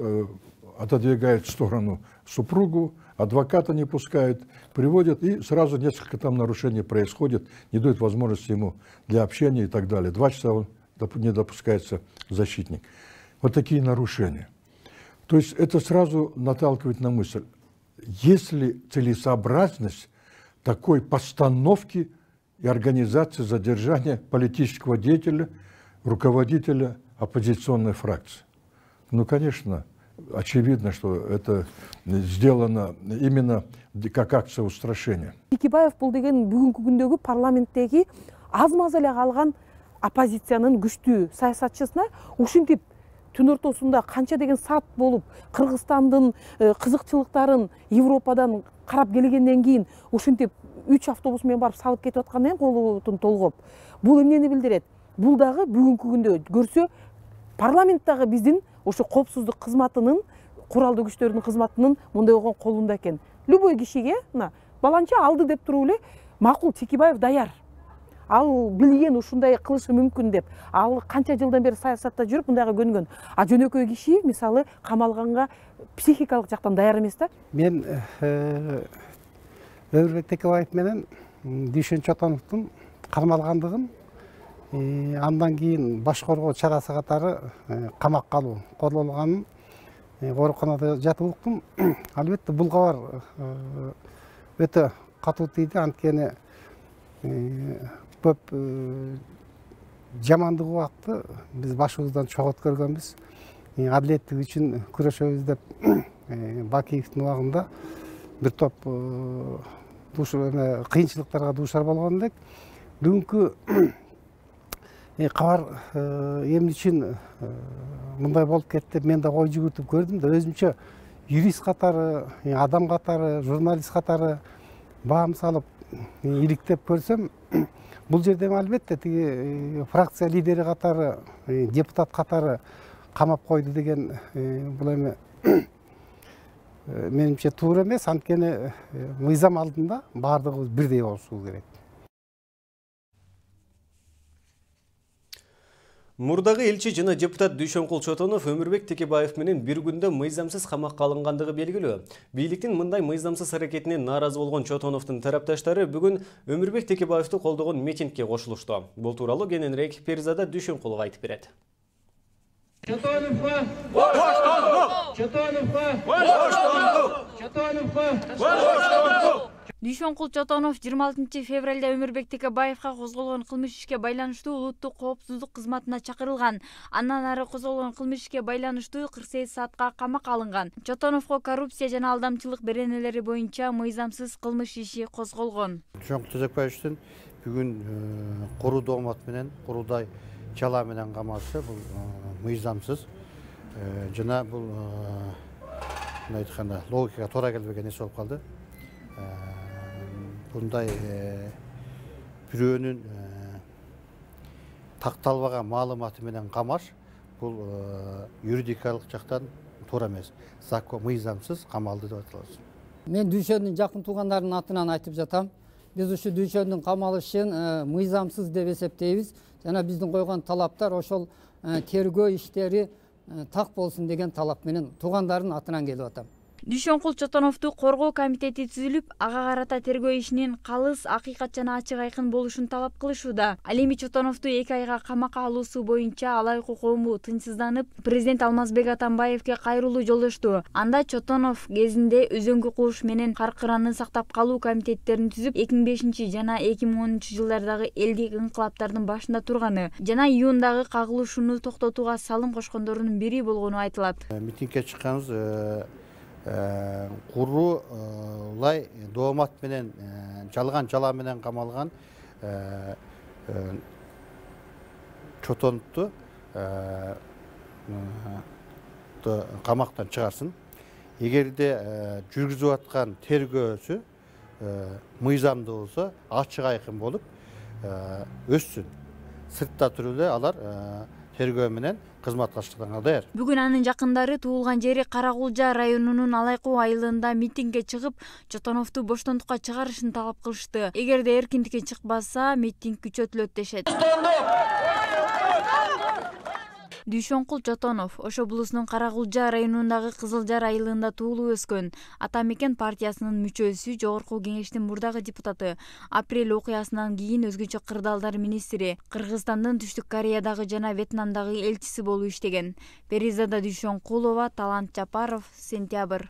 отодвигает в сторону супругу, адвоката не пускают, приводят, и сразу несколько там нарушений происходит, не дают возможности ему для общения и так далее. 2 часа не допускается защитник. Вот такие нарушения. То есть это сразу наталкивает на мысль, есть ли целесообразность такой постановки и организации задержания политического деятеля, руководителя оппозиционной фракции. Ну, конечно, очевидно, что это сделано именно как акция устрашения. Текебаев бул деген бүгүнкү күндөгү парламенттеги аз-маз эле калган оппозициянын күчтүү саясатчысына ушинтип түн ортосунда канча деген саат болуп Кыргызстандын кызыкчылыктарын Европадан карап келгенден кийин ушинтип 3 автобус менен барып салып кетип аткандан кийин колун толгоп, бул эмнени билдирет? Бул дагы бүгүнкү күндө көрсө парламенттагы биздин ошо коопсуздук кызматынын, куралдуу күчтөрдүн кызматынын мындай болгон колунда экен. Любой кишиге баланча алды деп туруп эле макул Текебаев даяр. Ал билген ушундай кылышы мүмкүн деп. Ал канча жылдан бери саясатта жүрүп мындайга көнгөн. А жөнөкөй киши мисалы камалганга психикалык жактан даяр эмес да. Мен Өмүрбек Текебаев менен Дүйшөн Чотоновдун кармалгандыгын, андан кийин баш коргоо чарасы катары камакка алуу колдонулганын ооруканада жатып уктум. Албетте бул кабар өтө катуу тийди, анткени көп жамандык убакты биз башыбыздан чогот көргөнбүз. Адилеттик үчүн күрөшөбүз деп Бакиевдин убагында бир топ кыйынчылыктарга дуушар болгон элек. Бүгүнкү кабар эмне үчүн мындай болуп кетти деп мен да ой жүгүртүп көрдүм да, өзүмчө юрист катары, адам катары, журналист катары баам салып иликтеп көрсөм, бул жерде албетте тиги фракция лидери катары, депутат катары камап койду деген бул эми менимче туура эмес, анткени мыйзам алдында баардыгыбыз бирдей болушубуз керек. Мурдагы элчи жана депутат Дүйшөнкул Чотонов Өмүрбек Текебаев менен бир күндө мыйзамсыз камакка алынгандыгы белгилүү. Бийликтин мындай мыйзамсыз аракетине нааразы болгон Чотоновдун тарапташтары бүгүн Өмүрбек Текебаевди колдогон митингге кошулушту. Бул тууралуу кененирээк Перизада Дүйшөнкулов айтып берет. Чотоновго боштондук! Чотоновго боштондук! Чотоновго Дүйшөнкул Чотонов 26 февралда Өмүрбек Текебаевга козголгон кылмыш ишке байланыштуу улуттук коопсуздук кызматына чакырылган. Андан ары козголгон кылмыш ишке байланыштуу 48 саатка камакка алынган. Чотоновго коррупция жана алдамчылык беренелери боюнча мыйзамсыз кылмыш иши козголгон. Дүйшөнкул Текебаевдин бүгүн куруу доомат менен, куруудай чала менен камашы бул мыйзамсыз жана бул мындай айтканда логикага туура келбеген нерсе болуп калды. Bunday бирөөнүн такталбаган маалыматы менен камаш бул юридикалык жактан туура эмес. Закон мыйзамсыз камалды деп аталат. Мен Дүйшөндүн жакын туугандарынын атынан айтып жатам. Биз ушу Дүйшөндүн камалышын мыйзамсыз деп эсептейбиз. Жана биздин койгон талаптар ошол тергөө иштери так болсун деген талап менен туугандардын атынан келип атам. Дүйшөнкул Чотоновду коргоо комитети түзүлүп, ага карата тергөө ишинин калыс, акыйкат жана ачык айкын болушун талап кылышууда. Ал эми Чотоновду 2 айга камакка алуусу боюнча алайкы коому тынчсызданып, президент Алмазбек Атамбаевге кайрылуу жолдошту. Анда Чотонов кезинде өзөңкү куш менен каркыраны сактап калуу комитеттерин түзүп, 2005 жана 2010 жылдардагы элдик инкылаптардын башында турганы жана июндагы кагылышууну токтотууга салым кошкондордун бири болгону айтылат. Митингге чыкканбыз. Курулай доомат менен жалган жала менен камалган Чотоновду камактан чыгарсын. Эгерде жүргүзүп аткан тергөөсү мыйзамдуу болсо, ачык айкын болуп өссүн. Сыртта туруп эле алар тергөө менен кызмат кылышканга даяр. Бүгүн анын жакындары туулган жери Каракулжа районунун Алайкуу айылында митингге чыгып, Чотоновду боштондукка чыгарышын талап кылышты. Эгерде эркиндикке чыкпаса, митинг күчөтүлөт дешет. Дүйшөнкул Чотонов Ош облусунун Каракулжа районундагы Кызыл Жар айылында туулуп өскөн. Ата мекен партиясынын мүчөсү, жогорку кеңештин мурдагы депутаты. Апрель окуясынан кийин өзгөчө кырдаалдар министри, Кыргызстандын Түштүк Кореядагы жана Вьетнамдагы элчиси болуп иштеген. Перизада Дүйшөнкулова, Талант Жапаров, Сентябрь.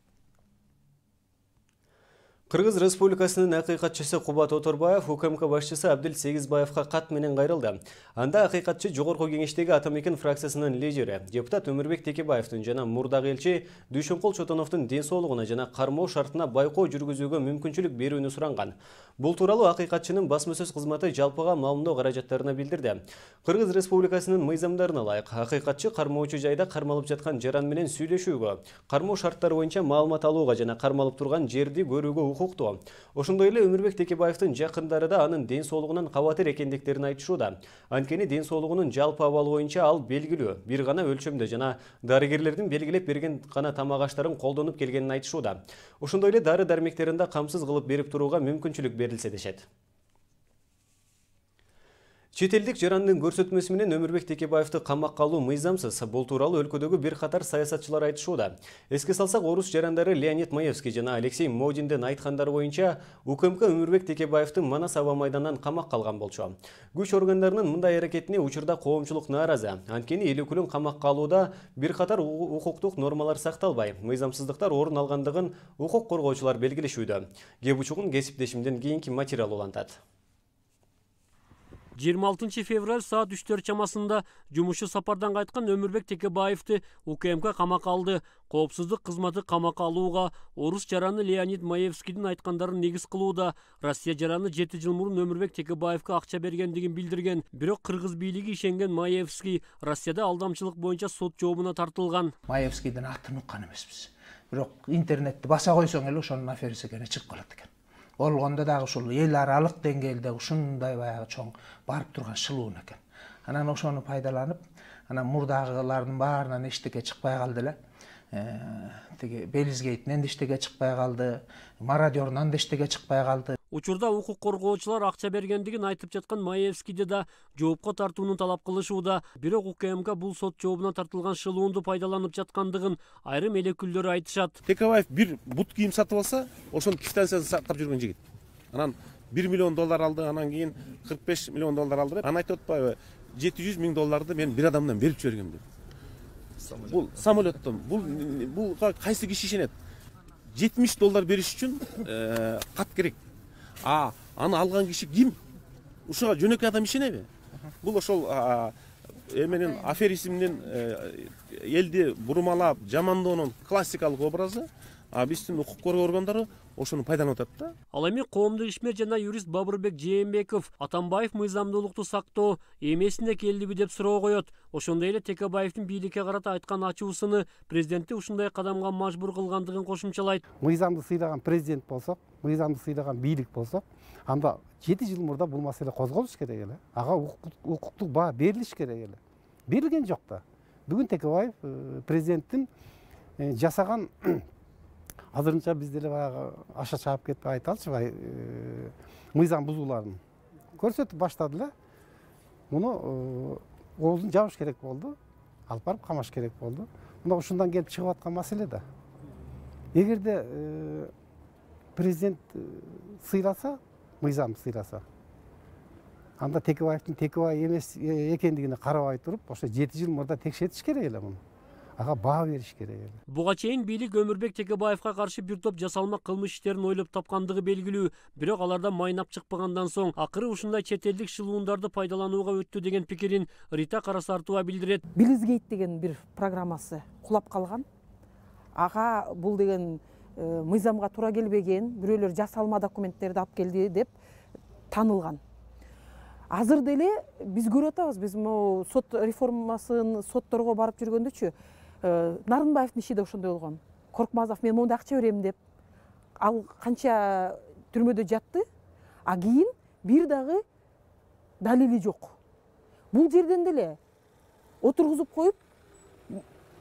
Кыргыз Республикасынын акыйкатчысы Кубат Оторбаев УКМК башчысы Абдил Сегизбаевга кат менен кайрылды. Анда акыйкатчы жогорку кеңештеги Ата мекен фракциясынын лидери, депутат Өмүрбек Текебаевдин жана мурдагы элчи Дүйшөнкул Чотоновдун ден соолугуна жана кармоо шартына байкоо жүргүзүүгө мүмкүнчүлүк берүүнү суранган. Бул тууралуу акыйкатчынын басма сөз кызматы жалпыга маалымдоо каражаттарына билдирди. Кыргыз Республикасынын мыйзамдарына ылайык акыйкатчы кармоочу жайда кармалып жаткан жаран менен сүйлөшүүгө, кармоо шарттары боюнча маалымат алууга жана кармалып турган жерди көрүүгө укуктуу. Ошондой эле Өмүрбек Текебаевдин жакындары да анын ден соолугунан кабатыр экендиктерин айтышууда. Анткени ден соолугунун жалпы абалы боюнча ал белгилүү, бир гана өлчөмдө жана дарыгерлердин белгилеп берген гана тамак аштарын колдонуп келгенин айтышууда. Ошондой эле дары-дармектерин да камсыз кылып берип турууга мүмкүнчүлүк берилсе дешет. Чет элдик жарандын көрсөтмөсү менен Өмүрбек Текебаевди камакка алуу мыйзамсыз. Бул тууралуу өлкөдөгү бир катар саясатчылар айтышууда. Эске салсак, орус жарандары Леонид Маевский жана Алексей Модиндин айткандары боюнча УКМК Өмүрбек Текебаевди Манас аба майданынан камакка алган болчу. Күч органдарынын мындай аракетине учурда коомчулук нааразы. Анткени эл өкүлүн камакка алууда бир катар укуктук нормалар сакталбай, мыйзамсыздыктар орун алгандыгын укук коргоочулар белгилешүүдө. Кеп учугун кесиптешимден кийинки материал улантат. 26 февраль саат 3 чамасында жумушу сапардан кайткан Өмүрбек Текебаевди УКМК камакка алды. Коопсуздук кызматы камакка алууга орус жараны Леонид Маевскийдин айткандарын негиз кылууда. Россия жараны 7 жыл мурун Өмүрбек Текебаевге акча бергендигин билдирген. Бирок кыргыз бийлиги ишенген Маевский Россияда алдамчылык боюнча сот жообуна тартылган. Маевскийдин атын уккан эмеспиз. Бирок интернетти баса койсоң эле ошонун аферisi кene чыгып калат экен. Болгондо дагы ушул эл аралык деңгээлде ушундай баягы чоң барып турган шылуун экен. Анан ошону пайдаланып, анан мурдагылардын баарынан эчтеке чыкпай калды эле. Тиги Белизгейтинен да эчтеке чыкпай калды, мародернан да эчтеке чыкпай калды. Учурда укук коргоочулар акча бергендигин айтып жаткан Маевскийди да жоопко тартууну талап кылышууда. Бирок УКМК бул сот жообуна тартылган шылуунду пайдаланып жаткандыгын айрым эл өкүлдөрү айтышат. Текебаев бир бут кийим сатып алса, ошонун квитанциясын сактап жүргөн жигит. Анан 1 миллион доллар алды, анан кийин 45 миллион доллар алды. Анан айтып атпайбы, 700 миң долларды мен бир адамдан берип жибергем деп. Бул самолеттон, бул кайсы киши ишенет? 70 доллар бериш үчүн кат керек. Аны алган киши ким? Ушуга жөнөкөй адам ишенеби? Бул ошол эменин аферизмдин элди бурмалап, жамандоонун классикалык образы. Биздин укук коргоо органдары ошону пайдаланып атат да. Ал эми коомдук ишмер жана юрист Бабырбек Жээнбеков Атамбаев мыйзамдуулукту сактоо эмесине келдиби деп суроо коет. Ошондой эле Текебаевдин бийликке карата айткан ачуусуну президенти ушундай кадамга мажбур кылгандыгын кошумчалайт. Мыйзамды сыйлаган президент болсок, мыйзамды сыйлаган бийлик болсок, анда 7 жыл мурда бул маселе козголуш керек эле. Ага укуктук баа берилиш керек эле. Берилген жок да. Бүгүн Текебаев президенттин жасаган азырынча биз деле баягы аша чаап кетип айталычы мыйзам бузууларын көрсөтүп баштады эле. Муну оозун жабыш керек болду, алып барып камаш керек болду. Мына ушундан келип чыгып аткан маселе да. Эгерде президент сыйласа, мыйзам сыйласа, анда Текебаевдин Текебаев эмес экендигине карабай туруп, ошо 7 жыл мурда текшертиш керек эле муну. Ага баа бериш керек эле. Буга чейин бийлик Өмүрбек Текебаевга каршы бир топ жасалма кылмыш иштерин ойлоп тапкандыгы белгилүү. Бирок алардан майнап чыкпагандан соң акыры ушундай чет элдик шылуундарды пайдаланууга өттү деген пикирин Рита Карасартова билдирет. Белизгейт деген бир программасы кулап калган. Ага бул деген мыйзамга туура келбеген, бирөөлөр жасалма документтерди алып келди деп таанылган. Азыр деле биз көрүп атабыз, биз могу сот реформасын сотторго барып жүргөндөчү Нарынбаевдин иши да ошондой болгон. Коркмазов мен мондай акча берем деп, ал канча түрмөдө жатты, а кийин бир дагы далили жок. Бул жерден деле отургузуп коюп,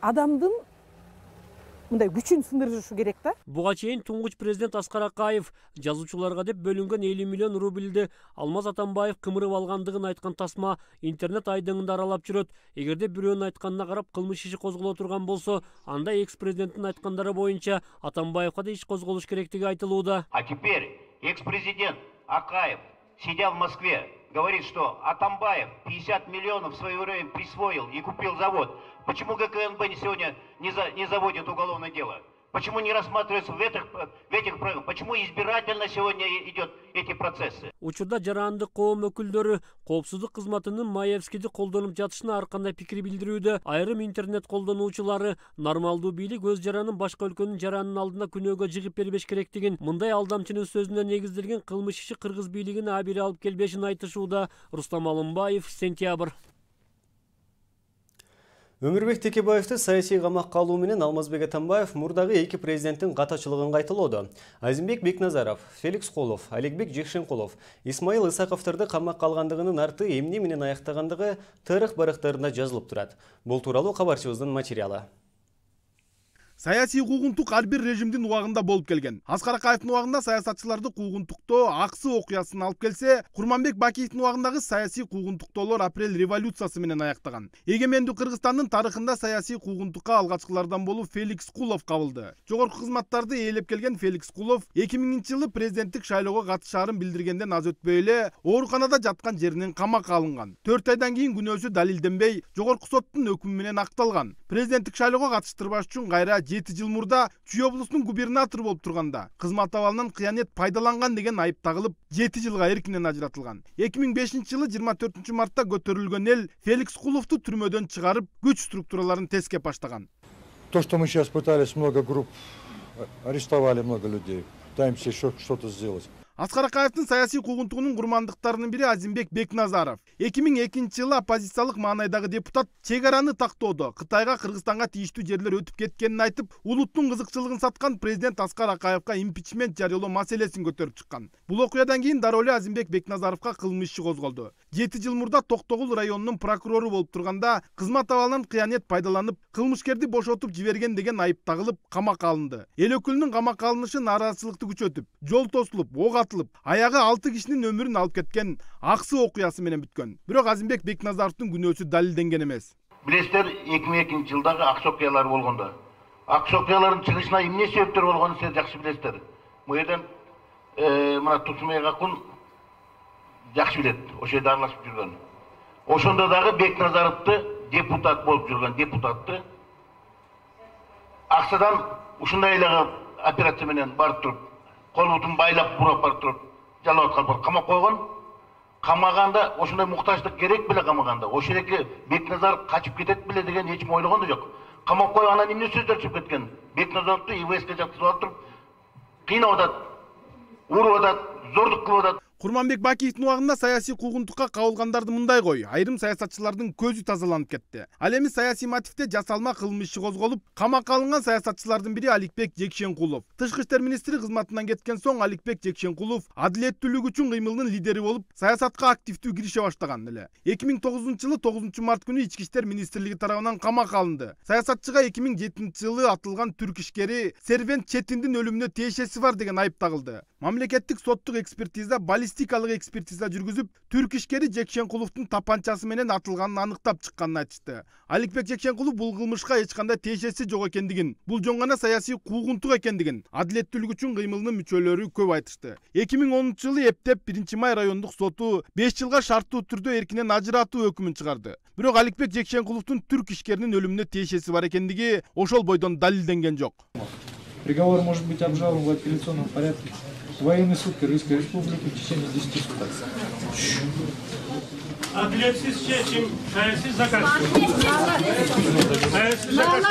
адамдын мындай күчүн сындырышы керек да. Буга чейин туңгуч президент Аскар Акаев жазуучуларга деп бөлүнгөн 50 миллион рубльди Алмаз Атамбаев кымырып алгандыгын айткан тасма интернет айдыңында аралап жүрөт. Эгерде бирөөнүн айтканына карап кылмыш иши козголо турган болсо, анда экс-президенттин айткандары боюнча Атамбаевка да иш козголуш керектиги айтылууда. А теперь экс-президент Акаев, сидя в Москве, говорит, что Атамбаев 50 миллионов в свое время присвоил и купил завод. Почему ГКНБ сегодня не заводит уголовное дело? Почему не рассматриваются в этих программах? Почему избирательно сегодня идет эти процессы? Учурда жарандык коом өкүлдөрү коопсуздук кызматынын Маевскийди колдонуп жатышына ар кандай пикир билдирүүдө. Айрым интернет колдонуучулары нормалдуу бийлик өз жаранын башка өлкөнүн жаранынын алдына күнөөгө жыгып бербеш керектигин, мындай алдамчынын сөзүнө негизделген кылмыш иши кыргыз бийлигине абийир алып келбешин айтышууда. Рустам Алымбаев, Сентябрь. Өмүрбек Текебаевди саясий камакка алуу менен Алмазбек Атамбаев мурдагы эки президенттин катачылыгын кайталоодо. Азимбек Бекназаров, Феликс Кулов, Аликбек Жекшенкулов, Исмаил Исаковдорду камакка алгандыгынын арты эмне менен аяктагандыгы тарых барактарында жазылып турат. Бул тууралуу кабарчыбыздын материалы. Саясий куугунтук ар бир режимдин убагында болуп келген. Аскар Акаевдин убагында саясатчыларды куугунтуктоо аксы окуясын алып келсе, Курманбек Бакиевдин убагындагы саясий куугунтуктоолор апрель революциясы менен аяктаган. Эгемендүү Кыргызстандын тарыхында саясий куугунтукка алгачкылардан болуп Феликс Кулов кабылды. Жогорку кызматтарды ээлеп келген Феликс Кулов 2000-жылы президенттик шайлоого катышаарын билдиргенден аз өтпөй эле ооруканада жаткан жеринен камакка алынган. 4 айдан кийин күнөөсү далилденбей, жогорку соттун өкүмү менен акталган. Президенттик шайлоого катыштырбаш үчүн кайра 7 жыл мурда Чүй облусунун губернатору болуп турганда кызмат абалынан кыянет пайдаланган деген айып тагылып 7 жылга эркинен ажыратылган. 2005-жылы 24 мартта көтөрүлгөн эл Феликс Куловду түрмөдөн чыгарып, күч структураларын тескеп баштаган. То, что мы сейчас пытались, много групп, арестовали много людей, пытаемся еще что-то сделать. Аскар Акаевдин саясий куугунтугунун курмандыктарынын бири Азимбек Бекназаров. 2002-жылы оппозициялык маанайдагы депутат чек араны тактоодо Кытайга Кыргызстанга тийиштүү жерлер өтүп кеткенин айтып, улуттун кызыкчылыгын саткан президент Аскар Акаевка импичмент жарыялоо маселесин көтөрүп чыккан. Бул окуядан кийин дароо эле Азимбек Бекназаровка кылмыш иши козголду. 7 жыл мурда Токтогул районунун прокурору болуп турганда кызмат абалынан кыянет пайдаланып, кылмышкерди бошотуп жиберген деген айып тагылып, камакка алынды. Эл өкүлүнүн камакка алынышы нааразычылыкты күчөтүп, жол тосулуп, ок атылып, аягы 6 кишинин өмүрүн алып кеткен аксы окуясы менен бүткөн. Бирок Азимбек Бекназаровдун күнөөсү далилденген эмес. Билесиздер, 2002-жылдагы аксы окуялар болгондо. Аксы окуялардын чыгышына эмне себептер болгонун силер жакшы билесиздер. Бул жерден мына Тусмай Гакун жакшы билет, ошол жерде аралашып жүргөн. Ошондо дагы Бекназаровду депутат болуп жүргөн депутатты аксадан ушундай эле операция менен барып туруп, кол бутун байлап бурап барып туруп, жалап аткан, камап койгон. Камаганда ошондой муктаждык керек беле камаганда. Ошол жерге Бекназаров качып кетет беле деген эч ойлогон да жок. Камап коюп анан эмне сөздөр чыгып кеткен? Бекназаровду ИВСке жаткызып алып туруп, кыйнап атат, уруп атат, зордук кылып атат. Курманбек Бакиевдин убагында саясий куугунтукка кабылгандарды мындай кой, айрым саясатчылардын көзү тазаланып кетти. Ал эми саясий мотивде жасалма кылмыш иши козголуп, камакка алынган саясатчылардын бири Аликбек Жекшенкулов. Тышкы иштер министри кызматынан кеткен соң Аликбек Жекшенкулов адилеттүүлүк үчүн кыймылдын лидери болуп, саясатка активдүү кирише баштаган эле. 2009-жылы 9 март күнү Ички иштер министрлиги тарабынан камакка алынды. Саясатчыга 2007-жылы атылган түрк ишкери Сервент Четиндин өлүмүнө тиешеси бар деген айып тагылды. Мамлекеттик соттук экспертиза баллистикалык экспертиза жүргүзүп, түрк ишкери Жекшенкуловдун тапанчасы менен атылганын аныктап чыкканын айтышты. Аликбек Жекшенкулов бул кылмышка эч кандай тиешеси жок экендигин, бул жөн гана саясий куугунтук экендигин, адилеттүүлүк үчүн кыймылынын мүчөлөрү көп айтышты. 2010-жылы эптеп 1-Май райондук соту 5 жылга шарттуу түрдө эркинен ажыратуу өкүмүн чыгарды. Бирок Аликбек Жекшенкуловдун түрк ишкеринин өлүмүнө тиешеси бар экендиги ошол бойдон далилденген жок. Приговор может быть обжалован в апелляционном порядке. Военный суд Кыргызской Республики в течение 10 суток. Апелляциясыз чечим, саясий заказ. Саясий заказ.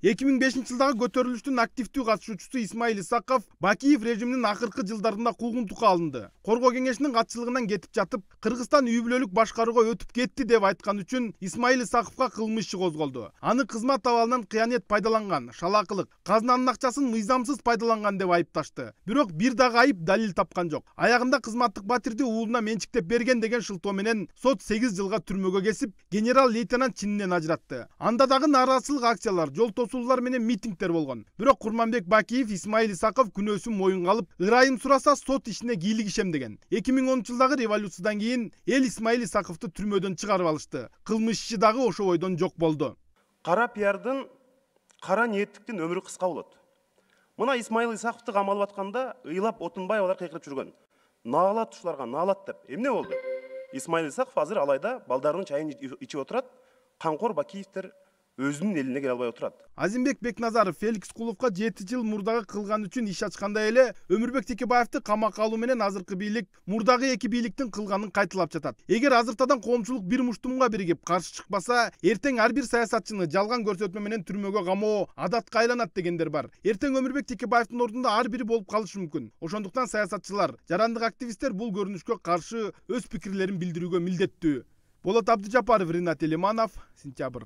2005-жылдагы көтөрүлүштүн активдүү катышуучусу Исмаил Исаков Бакиев режиминин акыркы жылдарында куугунтукка алынды. Коргоо кеңешинин катчылыгынан кетип жатып, Кыргызстан үй бүлөлүк башкарууга өтүп кетти деп айткан үчүн Исмаил Исаковго кылмыш иши козголду. Аны кызмат абалынан кыянет пайдаланган, шалаакылык, казынанын акчасын мыйзамсыз пайдаланган деп айыпташты. Бирок бир дагы айып далил тапкан жок. Аягында кызматтык батирди уулуна менчиктеп берген деген шылтоо менен сот 8 жылга түрмөгө кесип, генерал-лейтенант чининен ажыратты. Анда дагы нааразычылык акциялар, жол тосуулар менен митингдер болгон. Бирок Курманбек Бакиев Исмаил Исаков күнөөсүн моюнга алып, ырайым сураса сот ишине кийлигишем деген. 2010-жылдагы революциядан кийин эл Исмаил Исаковду түрмөдөн чыгарып алышты. Кылмыш иши дагы ошо бойдон жок болду. Кара пиардын, кара ниеттиктин өмүрү кыска болот. Мына Исмаил Исаковду камалып атканда ыйлап отунбай алар кыйкырып жүргөн. Наалат ушуларга, наалат деп. Эмне болду? Исмаил Исаков азыр алайда балдарынын чайын ичип отурат, Камкор Бакиевдер өзүнүн элине келе албай отурат. Азимбек Бекназаров Феликс Куловго 7 жыл мурдагы кылган үчүн иш ачкандай эле Өмүрбек Текебаевди камакка алуу менен азыркы бийлик мурдагы эки бийликтин кылганын кайталап жатат. Эгер азыртадан коомчулук бир муштумга биригип каршы чыкпаса, эртең ар бир саясатчыны жалган көрсөтмө менен түрмөгө камоо адатка айланат дегендер бар. Эртең Өмүрбек Текебаевдин ордунда ар бири болуп калышы мүмкүн. Ошондуктан саясатчылар, жарандык активисттер бул көрүнүшкө каршы өз пикирлерин билдирүүгө милдеттүү. Болот Абдыжапаров, Ринат Элиманов, Сентябрь.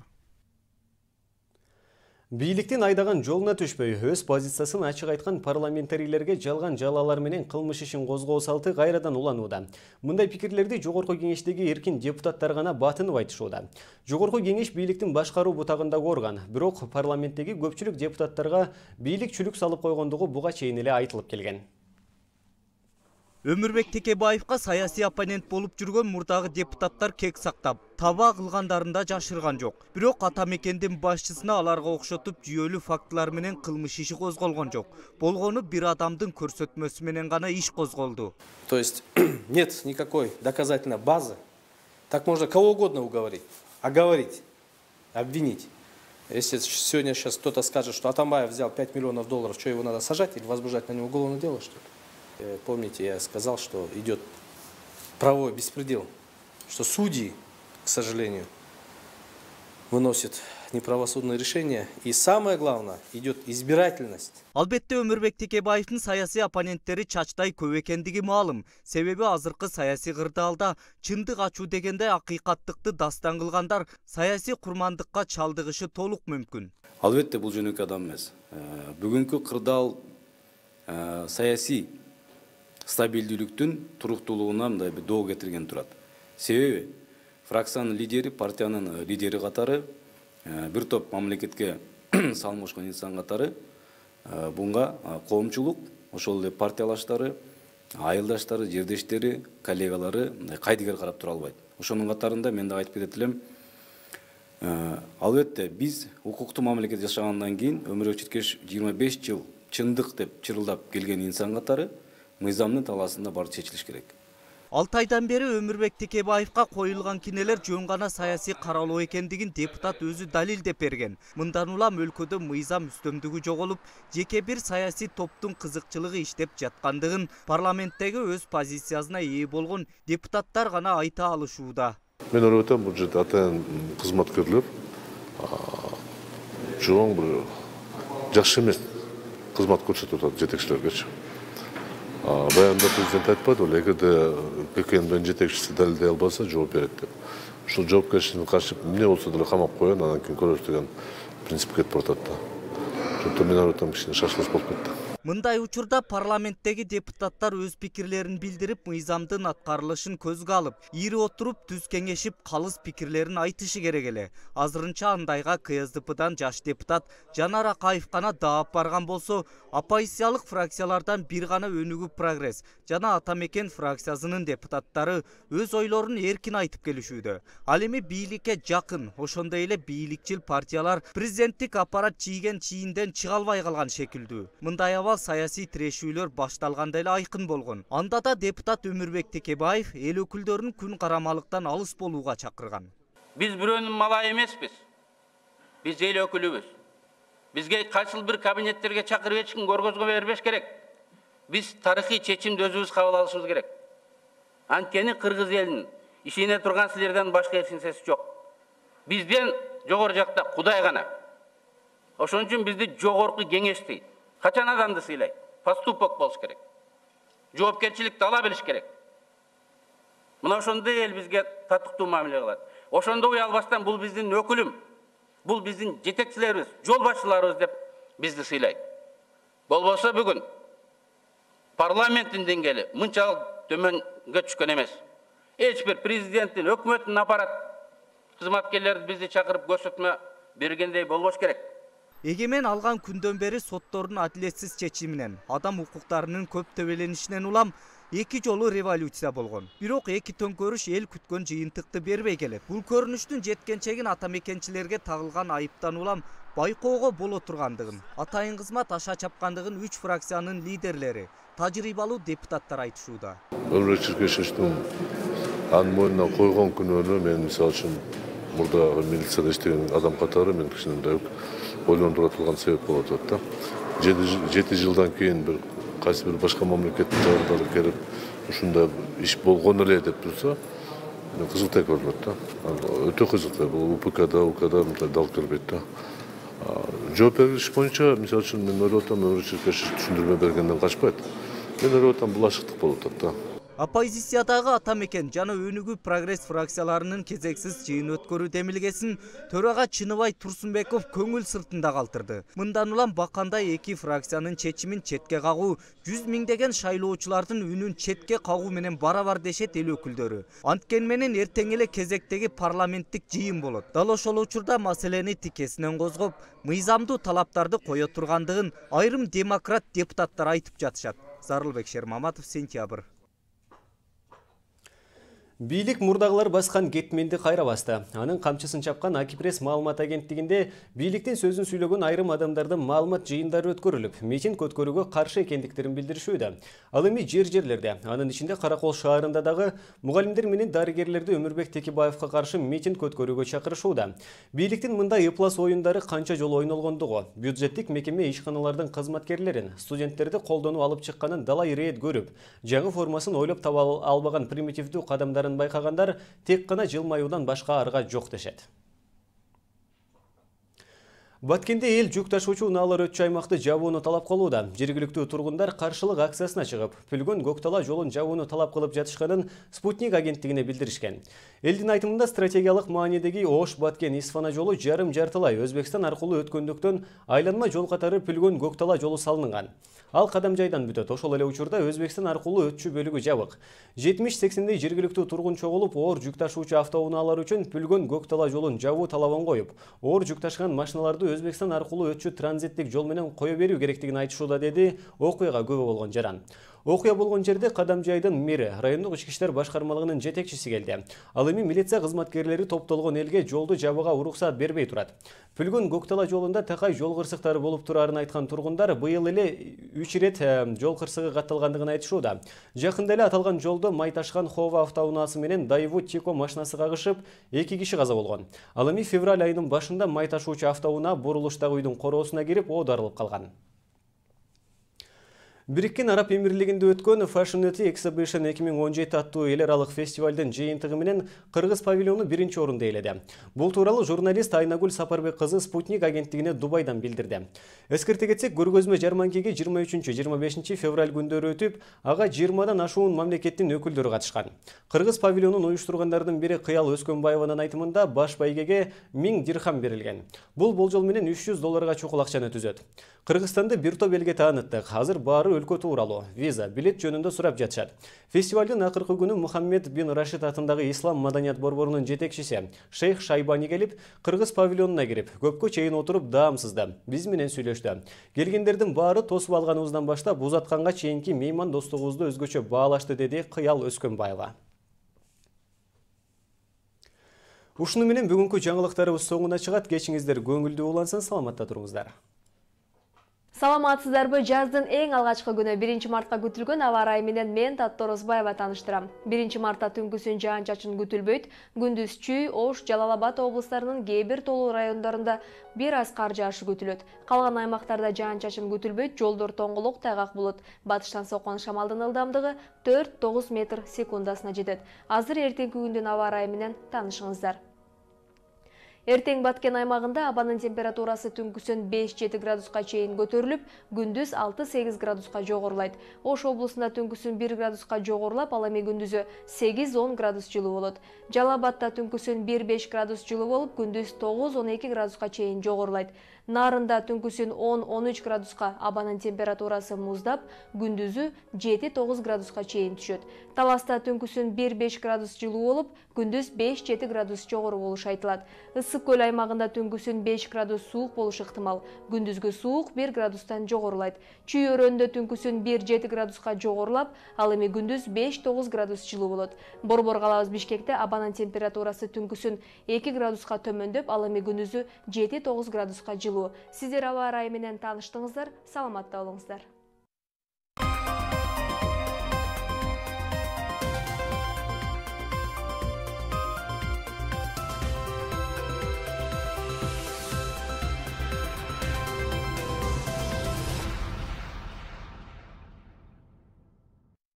Бийликтин айдаган жолуна түшпөй, өз позициясын ачык айткан парламентарийлерге жалган жалалар менен кылмыш ишин козгоо салты кайрадан уланууда. Мындай пикирлерди Жогорку кеңештеги эркин депутаттар гана батынып айтышууда. Жогорку кеңеш бийликтин башкаруу бутагындагы орган, бирок парламенттеги көпчүлүк депутаттарга бийлик чүлүк салып койгондугу буга чейин эле айтылып келген. Өмүрбек Текебаевга саясий оппонент болуп жүргөн мурдагы депутаттар кек сактап, таба кылгандарында жашырган жок. Бирок ата мекендин башчысына аларга окшотуп жүйөлүү фактылар менен кылмыш иши козголгон жок. Болгону бир адамдын көрсөтмөсү менен гана иш козголду. То есть нет никакой доказательной базы. Так можно кого угодно уговорить, оговорить, обвинить. Если сегодня сейчас кто-то скажет, что Атамбаев взял 5 миллионов долларов, что его надо сажать или возбуждать на него уголовное дело, что ли? Помните, я сказал, что идет правовой беспредел, что судьи, к сожалению, выносят неправосудные решения. И самое главное, идет избирательность. Албетте Өмүрбек Текебаевдин саясий оппоненттери чачтай көп экендиги маалым. Себеби азыркы саясий кырдаалда чындык ачуу дегенде акыйкаттыкты дастан кылгандар саясий курмандыкка чалдыгышы толук мүмкүн. Албетте бул жөнөкөй адам эмес. Бүгүнкү кырдаал саясий стабилдүүлүктүн туруктуулугуна мындай бир доо кетирген турат. Себеби фракциянын лидери, партиянын лидери катары, бир топ мамлекетке салмошкон инсан катары буга коомчулук, ошол эле партиялаштары, айылдаштары, жердештери, коллегалары кайдыгер карап тура албайт. Ошонун катарында мен да айтып кетет элем. Албетте биз укуктуу мамлекет жашагандан кийин Өмүрбек Чиркеш 25 жыл чындык деп чырылдап келген инсан катары мыйзамдын талаасында баары чечилиш керек. 6 айдан бери Өмүрбек Текебаевга коюлган кинелер жөн гана саясий каралуу экендигин депутат өзү далилдеп берген. Мындан улам өлкөдө мыйзам үстөмдүгү жоголуп, жеке бир саясий топтун кызыкчылыгы иштеп жаткандыгын парламенттеги өз позициясына ээ болгон депутаттар гана айта алышууда. Мен ойлоп атам, бул жерде атайын кызматкерлер чоң бир жакшы эмес кызмат көрсөтүп атат жетекчилергечи. Баягында президент айтпады, эгерде ККМдин жетекчиси далилдей албаса жооп берет деп. Ушул жоопкерчиликтин каршы эмне болсо деле камап коюн, анан кийин көрөбүз деген принцип кетип атат да. Ошондо мен ойлойм, кичине шашылыш болуп кетти. Мындай учурда парламенттеги депутаттар өз пикирлерин билдирип, мыйзамдын аткарылышын көзгө алып, ири отуруп, түз кеңешип, калыс пикирлерин айтышы керек эле. Азырынча андайга КСДПдан жаш депутат Жанар Акаев гана даап барган болсо, оппозициялык фракциялардан бир гана Өнүгүү Прогресс жана Ата Мекен фракциясынын депутаттары өз ойлорун эркин айтып келишүүдө. Ал эми бийликке жакын, ошондой эле бийликчил партиялар президенттик аппарат чийген чийинден чыга албай калган шекилдүү. Мындай саясий тирешүүлөр башталганда эле айкын болгон. Анда да депутат Өмүрбек Текебаев эл өкүлдөрүн күн карамалыктан алыс болууга чакырган. Биз бирөөнүн малайы эмеспиз. Биз эл өкүлүбүз. Бизге кайсыл бир кабинеттерге чакырып эч ким көргөзгө бербеш керек. Биз тарыхый чечимди өзүбүз кабыл алышыбыз керек. Анткени кыргыз элинин ишене турган силерден башка эч нерсеси жок. Бизден жогору жакта Кудай гана. Ошон үчүн бизди жогорку кеңеш дейт. Качан адамды сыйлайт? Поступок болуш керек. Жоопкерчиликти ала билиш керек. Мына ошондой эл бизге татыктуу мамиле кылат. Ошондо уялбастан бул биздин өкүлүм, бул биздин жетекчилерибиз, жол башчыларыбыз деп бизди сыйлайт. Болбосо бүгүн парламенттин деңгээли мынчалык төмөнгө түшкөн эмес. Эч бир президенттин, өкмөттүн аппарат кызматкерлери бизди чакырып көрсөтмө бергендей болбош керек. Эгемен алган күндөн бери соттордун адилетсиз чечиминен, адам укуктарынын көп төбеленишинен улам эки жолу революция болгон. Бирок эки төңкөрүш эл күткөн жыйынтыкты бербей келет. Бул көрүнүштүн жеткенчегин ата мекенчилерге тагылган айыптан улам байкоого боло тургандыгын, атайын кызмат аша чапкандыгын 3 фракциянын лидерлери, тажрыйбалуу депутаттар айтышууда. Өмүрбек Чиркешевичтин анын мойнуна койгон күнөөнү мен мисалы үчүн мурда милицияда иштеген адам катары мен кичине ойлондура турган себеп болуп атат да. 7 жылдан кийин бир кайсы бир башка мамлекеттин жагдары келип ушундай иш болгон эле деп турса, мен кызыктай көрүнөт да. Өтө кызыктай. Бул УПКда, УКда мындай дал келбейт да. Жооп бериш боюнча, мисалы үчүн мен ойлоп атам, Өмүрбек Чиркешев түшүндүрмө бергенден качпайт. Мен ойлоп атам, бул ашыктык болуп атат да. Оппозициядагы ата мекен жана өнүгүү прогресс фракцияларынын кезексиз жыйын өткөрүү демилгесин төрага Чыныбай Турсунбеков көңүл сыртында калтырды. Мындан улам бакандай эки фракциянын чечимин четке кагуу, 100 миңдеген шайлоочулардын үнүн четке кагуу менен барабар дешет эл өкүлдөрү. Анткени менен эртең эле кезектеги парламенттик жыйын болот. Дал ошол учурда маселени тикесинен козгоп, мыйзамдуу талаптарды кое тургандыгын айрым демократ депутаттар айтып жатышат. Зарылбек Шермаматов, Сентябрь. Бийлик мурдагылар баскан кетменди кайра басты. Анын камчысын чапкан Акипресс маалымат агенттигинде бийликтин сөзүн сүйлөгөн айрым адамдардын маалымат жыйындары өткөрүлүп, митинг өткөрүүгө каршы экендиктерин билдиришүүдө. Ал эми жерлерде, анын ичинде Каракол шаарында дагы мугалимдер менен дарыгерлерди Өмүрбек Текебаевка каршы митинг өткөрүүгө чакырышууда. Бийликтин мындай ыплас оюндары канча жолу ойнолгондугу, бюджеттик мекеме ишканалардын кызматкерлерин, студенттерди колдонуп алып чыкканын дала ирээт көрүп, жаңы формасын ойлоп таба албаган примитивдүү кадамдарын байкагандар тек гана жылмаюудан башка арга жок дешет. Баткенде эл жүк ташуучу унаалар өтчү аймакты жабууну талап кылууда. Жергиликтүү тургундар каршылык акциясына чыгып, Пүлгөн Көктала жолун жабууну талап кылып жатышканын Спутник агенттигине билдиришкен. Элдин айтымында стратегиялык маанидеги Ош-Баткен-Исфана жолу жарым-жартылай Өзбекстан аркылуу өткөндүктөн айланма жол катары Пүлгөн Көктала жолу салынган. Ал кадам жайдан бүтөт. Ошол эле учурда Өзбекстан аркылуу өтчү бөлүгү жабык. 70-80 жергиликтүү тургун чогулуп, оор жүк ташуучу автоунаалар үчүн Пүлгөн Көктала жолун жабуу талабын коюп, оор жүк ташыган машиналарды Өзбекстан аркылуу өтчү транзиттик жол менен кое берүү керектигин айтышууда, деди окуяга күбө болгон жаран. Окуя болгон жерде Кадам жайдын мэри, райондук ички иштер башкармалыгынын жетекчиси келди. Ал эми милиция кызматкерлери топтолгон элге жолду жабууга уруксат бербей турат. Пүлгөн Көктала жолунда такай жол кырсыктары болуп турарын айткан тургундар быйыл эле 3 ирет жол кырсыгы катталгандыгын айтышууда. Жакында эле аталган жолдо май ташкан Хова автоунаасы менен Daewoo Tico машинасы кагышып, 2 киши каза болгон. Ал эми февраль айынын башында май ташуучу автоунаа бурулуштагы үйдүн короосуна кирип оодарылып калган. Бириккен Араб Эмирлигинде өткөн Fashion Exhibition 2017 аттуу эл аралык фестивалдын жыйынтыгы менен Кыргыз павильону 1-чи орунда ээледи. Бул тууралуу журналист Айнагүл Сапарбек кызы Спутник агенттигине Дубайдан билдирди. Эскерте кетсек, көргөзмө жарманкеге 23-25 февраль күндөрү өтүп, ага 20дан ашуун мамлекеттин өкүлдөрү катышкан. Кыргыз павильонун уюштургандардын бири Кыял Өскөнбаеванын айтымында баш байгеге 1000 дирхам берилген. Бул болжол менен $300 чукул акчаны түзөт. Кыргызстанды бир топ элге тааныттык. Азыр баары өлкө тууралуу, виза, билет жөнүндө сурап жатышат. Фестивалдын акыркы күнү Мухаммед бин Рашид атындагы Ислам маданият борборунун жетекчиси Шейх Шайбани келип, Кыргыз павильонуна кирип, көпкө чейин отуруп даамсызды. Биз менен сүйлөштү. Келгендердин баары тосуп алганыбыздан баштап узатканга чейинки мейман достугубузду өзгөчө баалашты, деди Кыял Өскөнбаева. Ушуну менен бүгүнкү жаңылыктарыбыз соңуна чыгат. Кечиңиздер көңүлдүү улансын, саламатта туруңуздар. Саламатсыздарбы? Жаздын эң алгачкы күнү 1 мартка күтүлгөн аба ырайы менен мен Таттор Озбаева тааныштырам. 1 мартта түнкүсүн жаан-чачын күтүлбөйт. Күндүз Чүй, Ош, Жалал Абад облустарынын кээ бир толуу райондорунда бир аз кар жаашы күтүлөт. Калган аймактарда жаан-чачын күтүлбөйт, жолдор тоңголок, тайгак болот. Батыштан соккон шамалдын ылдамдыгы 4-9 метр секундасына жетет. Азыр эртеңки күндүн аба ырайы менен таанышыңыздар. Эртең Баткен аймагында абанын температурасы түнкүсүн 5-7 градуска чейин көтөрүлүп, күндүз 6-8 градуска жогорулайт. Ош облусунда түнкүсүн 1 градуска жогорулап, ал эми күндүзү 8-10 градус жылуу болот. Жалал Абадта түнкүсүн 1-5 градус жылуу болуп, күндүз 9-12 градуска чейин жогорулайт. Нарында түнкүсүн 10-13 градуска, абанын температурасы муздап, күндүзү 7-9 градуска чейин түшөт. Таласта түнкүсүн 1-5 градус жылуу болуп, күндүз 5-7 градус жогору болушу айтылат. Ысык көл аймагында түнкүсүн 5 градус суук болушу ыктымал. Күндүзгү суук 1 градустан жогорулайт. Чүй өрөөнүндө түнкүсүн 1-7 градуска жогорулап, ал эми күндүз 5-9 градус жылуу болот. Борбор калабыз Бишкекте абанын температурасы түнкүсүн 2 градуска төмөндөп, ал эми күндүзү 7-9 градуска жылуу. Сиздер аба ырайы менен тааныштыңыздар, саламатта болуңуздар.